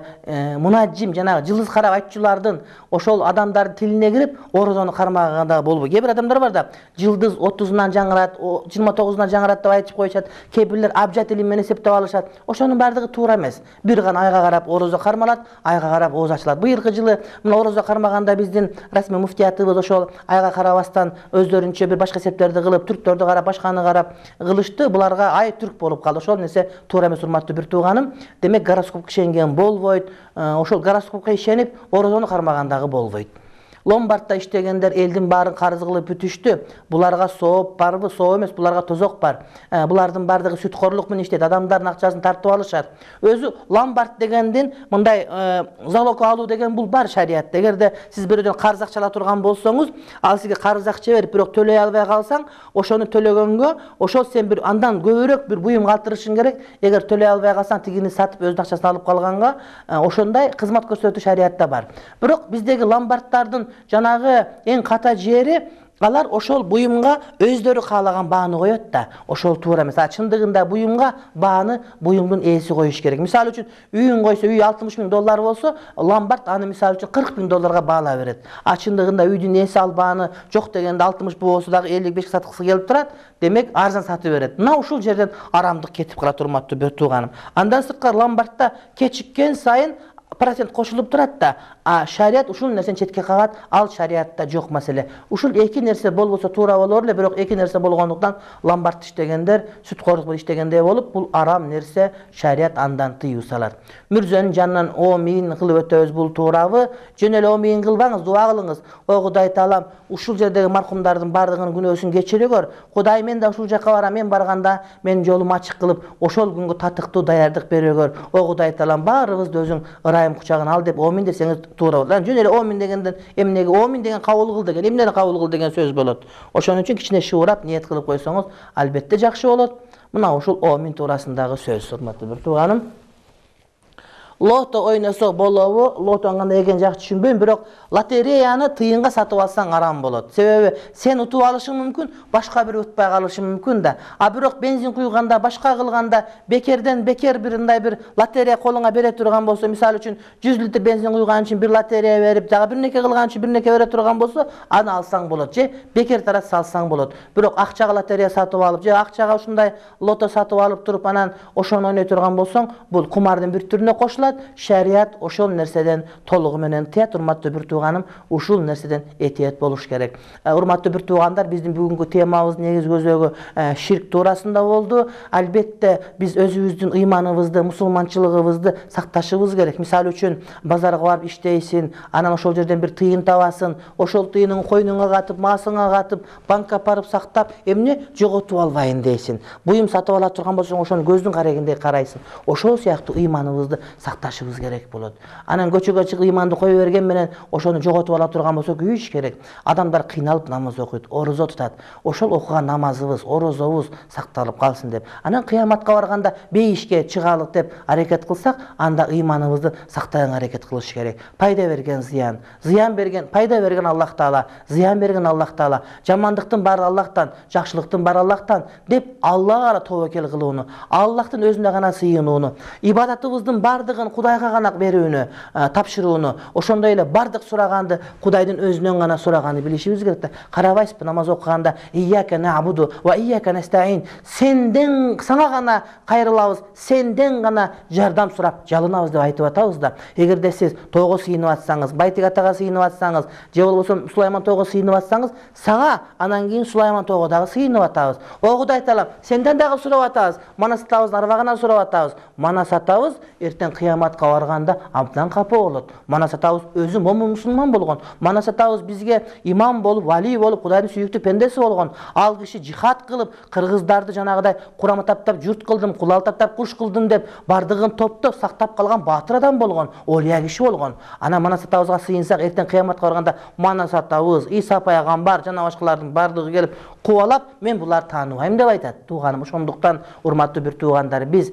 мунаджим, жанагы жылдыз карап айтчулардын ошол адамдардын тилине кирип, орозону кармаганда болбойт. Кээ бир адамдар бар да, жылдыз 30-унан жаңырат, 29-унан жаңырат деп айтып коюшат. Кээ бирлер абжат илим менен эсептеп алышат. Ошонун баардыгы туура эмес. Бир гана айга карап орозо кармалат, айга карап ооз ачылат. Быйылкы жылы мына орозо кармаганда биздин расмий муфтиятыбыз ошол айга карабастан өздөрүнчө бир башка эсептерди кылып, түрктөрдү карап, башканы карап кылышты. Буларга ай түрк болуп калды. Ошол нерсе туура эмес, урматтуу бир тууганым. Демек гороскопко ишенген болбойт. Ошол гороскопко ишенип, орозону кармагандагы болбойт. Ломбардта иштегендер элдин баарын карыз кылып бүтүштү. Буларга сооп барбы? Соо эмес, буларга тозок бар. Булардын баардыгы сүткорлук менен иштейт, адамдардын акчасын тартып алышат. Өзү ломбард дегендин мындай залог алуу деген бул бар шариятта. Эгерде сиз бирөөдөн карыз акча ала турган болсоңуз, ал сизге карыз акча берип, бирок төлөй албай калсаң, ошону төлөгөнгө, ошол сен бир андан көбүрөөк бир буюм калтырышың керек. Эгер төлөй албай калсаң, тигини сатып өзүнүн акчасын алып калганга, ошондой кызмат көрсөтүү шариятта бар. Бирок биздеги ломбарддардын жанагы эң ката жери, алар ошол буюмга өздөрү каалаган бааны коет да. Ошол туура эмес. Чындыгында буюмга бааны буюмдун ээси коюш керек. Мисалы үчүн үйүн койсо, үй $60,000 болсо, ломбард аны мисалы үчүн $40,000 баалап берет. Чындыгында үйдүн ээси ал бааны жок дегенде 60 болсо дагы 55 саткысы келип турат. Демек арзан сатып берет. Мына ушул жерден арамдык кетип калат, урматтуу бир тууганым. Андан сырткары ломбардта кечиккен сайын процент кошулуп турат да, шарият ушул нерсени четке кагат, ал шариятта жок маселе. Ушул эки нерсе болбосо туура болор эле, бирок эки нерсе болгондуктан ломбард иштегендер сүткорлук менен иштегендей болуп, бул арам нерсе, шарият андан тыюу салат. Мүрзөнүн жанынан омин кылып өтөбүз, бул туурабы? Жөн эле омин кылбаңыз, дуа кылыңыз. О Кудай Таалам, ушул жердеги маркумдардын баардыгынын күнөөсүн кечиригөр. Кудай, мен да ушул жака барам, мен барганда мен жолум ачык кылып, ошол күнгө татыктуу даярдык берегөр. О Кудай Таалам, баарыбызды өзүң ырайым кучагына ал деп омин десеңиз туура болот. Жөн эле омин дегенден эмнеге омин деген кабыл кыл деген, эмнени кабыл кыл деген сөз болот. Ошон үчүн кичине шуурап ниет кылып койсоңуз, албетте жакшы болот. Мына ушул омин туурасындагы сөз, урматтуу бир тууганым. Лото ойносо болобу? Лотонун кандай экенин жакшы түшүнбөйм, бирок лотереяны тыйынга сатып алсаң арам болот. Себеби сен утуп алышың мүмкүн, башка бир утпай калышы мүмкүн да. А бирок бензин куйганда, башка кылганда бекерден бекер бир мындай бир лотерея колуңа бере турган болсо, мисалы үчүн 100 литр бензин куйган үчүн бир лотерея берип, дагы бир нерсе кылган үчүн бир нерсе бере турган болсо, аны алсаң болот же бекер тарат салсаң болот. Бирок акчага лотерея сатып алып же акчага ушундай лото сатып алып туруп анан ошону ойной турган болсоң, бул кумардын бир түрүнө кошулат. Шарият ошол нерседен толугу менен тыят. Урматтуу бир тууганым, ушул нерседен этият болуш керек. Урматтуу бир туугандар, биздин бүгүнкү темабыздын негизги көзөгү ширк туурасында болду. Албетте биз өзүбүздүн ыйманыбызды, мусулманчылыгыбызды сакташыбыз керек. Мисалы үчүн базарга барып иштейсиң, анан ошол жерден бир тыйын табасың, ошол тыйыныңды койнуңа катып, маасыңа катып, банкка барып сактап, эмне жоготуп албайын дейсиң. Буюм сатып ала турган болсоң, ошону көздүн карегиндей карайсың. Ошол сыяктуу ыйманыбызды сакташыбыз керек болот. Анан көчөгө чыгып ыйманды кое берген менен ошону жоготуп ала турган болсо күйүш керек. Адамдар кыйналып намаз окуйт, орозо тутат. Ошол окуган намазыбыз, орозобуз сакталып калсын деп. Анан кыяматка барганда бейишке чыгалык деп аракет кылсак, анда ыйманыбызды сактаганга аракет кылыш керек. Пайда берген зыян, зыян берген, пайда берген Аллах Таала, зыян берген Аллах Таала. Жамандыктын баары Аллахтан, жакшылыктын баары Аллахтан деп Аллага гана тобокел кылууну, Аллахтын өзүнө гана сыйынууну, ибадатыбыздын бардыгын Кудайга гана берүүнү, тапшырууну, ошондой эле бардык сураганды Кудайдын өзүнөн гана сураганды билишибиз керек да. Карабайсызбы намаз окуганда ийяка набуду ва ийяка настаин, сенден сага гана кайрылабыз, сенден гана жардам сурап жалынабыз деп айтып атабыз да. Эгерде сиз тойго сыйынып атсаңыз, Байтик атага сыйынып атсаңыз, же болбосо Сулайман тойго сыйынып атсаңыз, сага анан кийин Сулайман тойго дагы сыйынып атабыз. О Кудай Таалам, сенден дагы сурап атабыз, мана сатабыздын арбагынан сурап атабыз. Мана сатабыз эртең кыяматка барганда абдан капа болот. Мана сатабыз өзү момун мусулман болгон. Мана сатабыз бизге имам болуп, вали болуп, Кудайдын сүйүктүү пендеси болгон. Ал киши жихад кылып, кыргыздарды жанагыдай Курам таптап журт кылдым, кулал таптап куш кылдым деп бардыгын топтоп сактап калган баатыр адам болгон, олия киши болгон. Анан мана сатабызга сыйынсак эртең кыяматка барганда мана сатабыз, Иса пайгамбар жана башкалардын бардыгы келип кубалап, мен буларды тааныбайм деп айтат. Тууганым, ошондуктан урматтуу бир туугандар, биз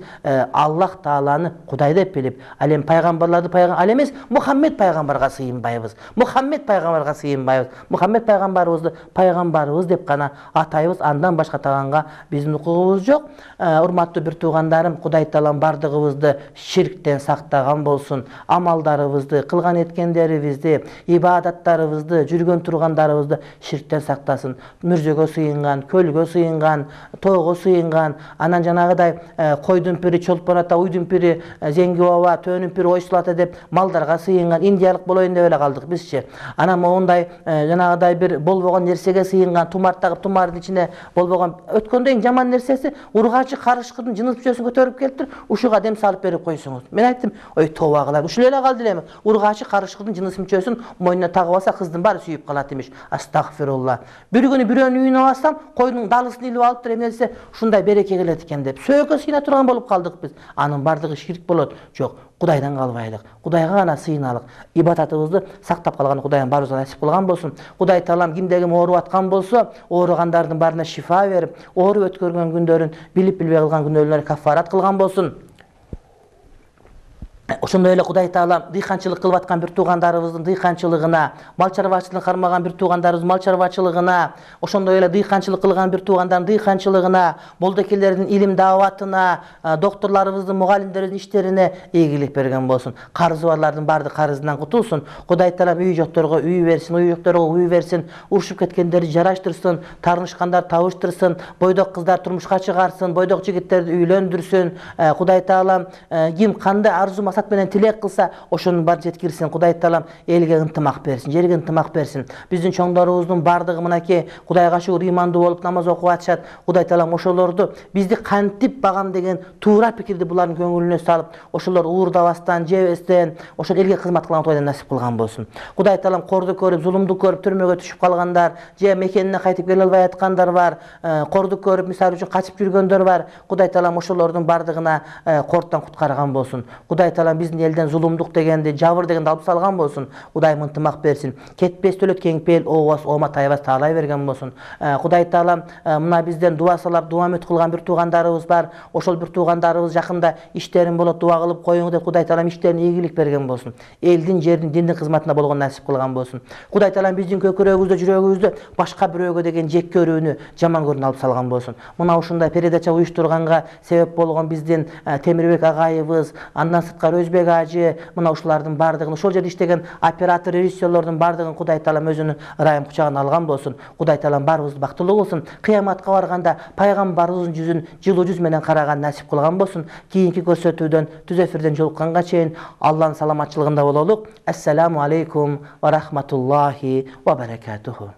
Аллах Тааланы Кудай деп билип, ал эми пайгамбарларды ал эмес Мухаммед пайгамбарга сыйынбайбыз. Мухаммед пайгамбарга сыйынбайбыз. Мухаммед пайгамбарыбызды пайгамбарыбыз деп гана атайбыз. Андан башка атаганга биздин укугубуз жок. Урматтуу бир туугандарым, Кудай Таалам бардыгыбызды ширктен сактаган болсун. Амалдарыбызды, кылган эткендерибизди, ибадаттарыбызды, жүргөн тургандарыбызды ширктен сактасын. Мүрзөгө сыйынган, көлгө сыйынган, тойго сыйынган, анан жанагыдай койдун пири чолпон ата, уйдун пири Зеңги баба, төөнүн пири Ойсул ата деп малдарга сыйынган, индиялык болоюн деп эле калдык бизчи. Анан моундай жанагыдай бир болбогон нерсеге сыйынган, тумар тагып тумардын ичине болбогон өткөндө эң жаман нерсеси ургачы карышкырдын жыныс мүчөсүн көтөрүп келиптир, ушуга дем салып берип койсоңуз. Мен айттым, ой тооба кылайын, ушул эле калды элеми. Ургачы карышкырдын жыныс мүчөсүн мойнуна тагып алса, кыздын баары сүйүп калат имиш. Астагфирулла. Бир күнү бирөөнүн үйүнө барсам, койдун далысын илип алыптыр, эмнесе ушундай береке келет экен деп. Сөөгө сыйына турган болуп калдык биз. Анын бардыгы ширк болот. Жок, Кудайдан калбайлык, Кудайга гана сыйыналык. Ибадатыбызды сактап калган Кудайым баарыбызга насип кылган болсун. Кудай Таалам кимде ким ооруп аткан болсо, ооругандардын баарына шифа берип, ооруп өткөргөн күндөрүн билип билбей кылган күнөөлөрүнө кафарат кылган болсун. Ошондой эле Кудай Таалам дыйканчылык кылып аткан бир туугандарыбыздын дыйканчылыгына, мал чарбачылыгын кармаган бир туугандарыбыздын мал чарбачылыгына, ошондой эле дыйканчылык кылган бир туугандардын дыйканчылыгына, болдокелердин илим дааватына, доктурларыбыздын, мугалимдерибиздин иштерине ийгилик берген болсун. Карызы барлардын бардык карызынан кутулсун. Кудай Таалам үй жокторго үй берсин, үй жокторго үй берсин, урушуп кеткендерди жараштырсын, таарынышкандар табыштырсын, бойдок кыздар турмушка чыгарсын, бойдок жигиттерди үйлөндүрсүн. Кудай Таалам ким кандай арзу максат менен тилек кылса, ошонун баары жеткирсин. Кудай Таалам элге ынтымак берсин, жерге ынтымак берсин. Биздин чоңдорубуздун бардыгы мынакей Кудайга шүгүр ыймандуу болуп намаз окуп атышат. Кудай Таалам ошолорду бизди кантип багам деген туура пикирди булардын көңүлүнө салып, ошолор уурдабастан, жебестен, ошол элге кызмат кылган Кудайдан насип кылган болсун. Кудай Таалам корду көрүп, зулумду көрүп, түрмөгө түшүп калгандар, же мекенине кайтып келе албай аткандар бар, корду көрүп, мисалы үчүн качып жүргөндөр бар. Кудай Таалам ошолордун бардыгына кордтон куткарган болсун. Кудай Таалам биздин элден зулумдук дегенди, жабыр дегенди алып салган болсун. Кудайым ынтымак берсин. Кетпес өлөт кеңпейил ообас ома тайбас таалай берген болсун. Кудай таалам мына бизден дуа салап, дуа үмүт кылган бир туугандарыбыз бар. Ошол бир туугандарыбыз жакында иштерин болот, дуа кылып коюңур деп Кудай таалам иштерине ийгилик берген болсун. Элдин, жердин, диндин кызматына болгон насип кылган болсун. Кудай таалам биздин көкүрөгүбүздө, жүрөгүбүздө башка бирөөгө деген жек көрүүнү, жаман көрүүнү алып салган болсун. Мына ушундай передача уюштурганга себеп болгон биздин Темирбек агайыбыз, андан сырткары Өзбек ажы, мына ушулардын бардыгын, ошол жерде иштеген оператор, режиссерлордун бардыгын Кудай таалам өзүнүн ырайым кучагына алган болсун. Кудай таалам баарыбызды бактылуу кылсын. Кыяматка барганда пайгамбарыбыздын жүзүн жылуу жүз менен караган насип кылган болсун. Кийинки көрсөтүүдөн, түз эфирден жолукканга чейин Алланын саламатчылыгында бололук. Ассаламу алейкум ва рахматуллахи ва баракатуху.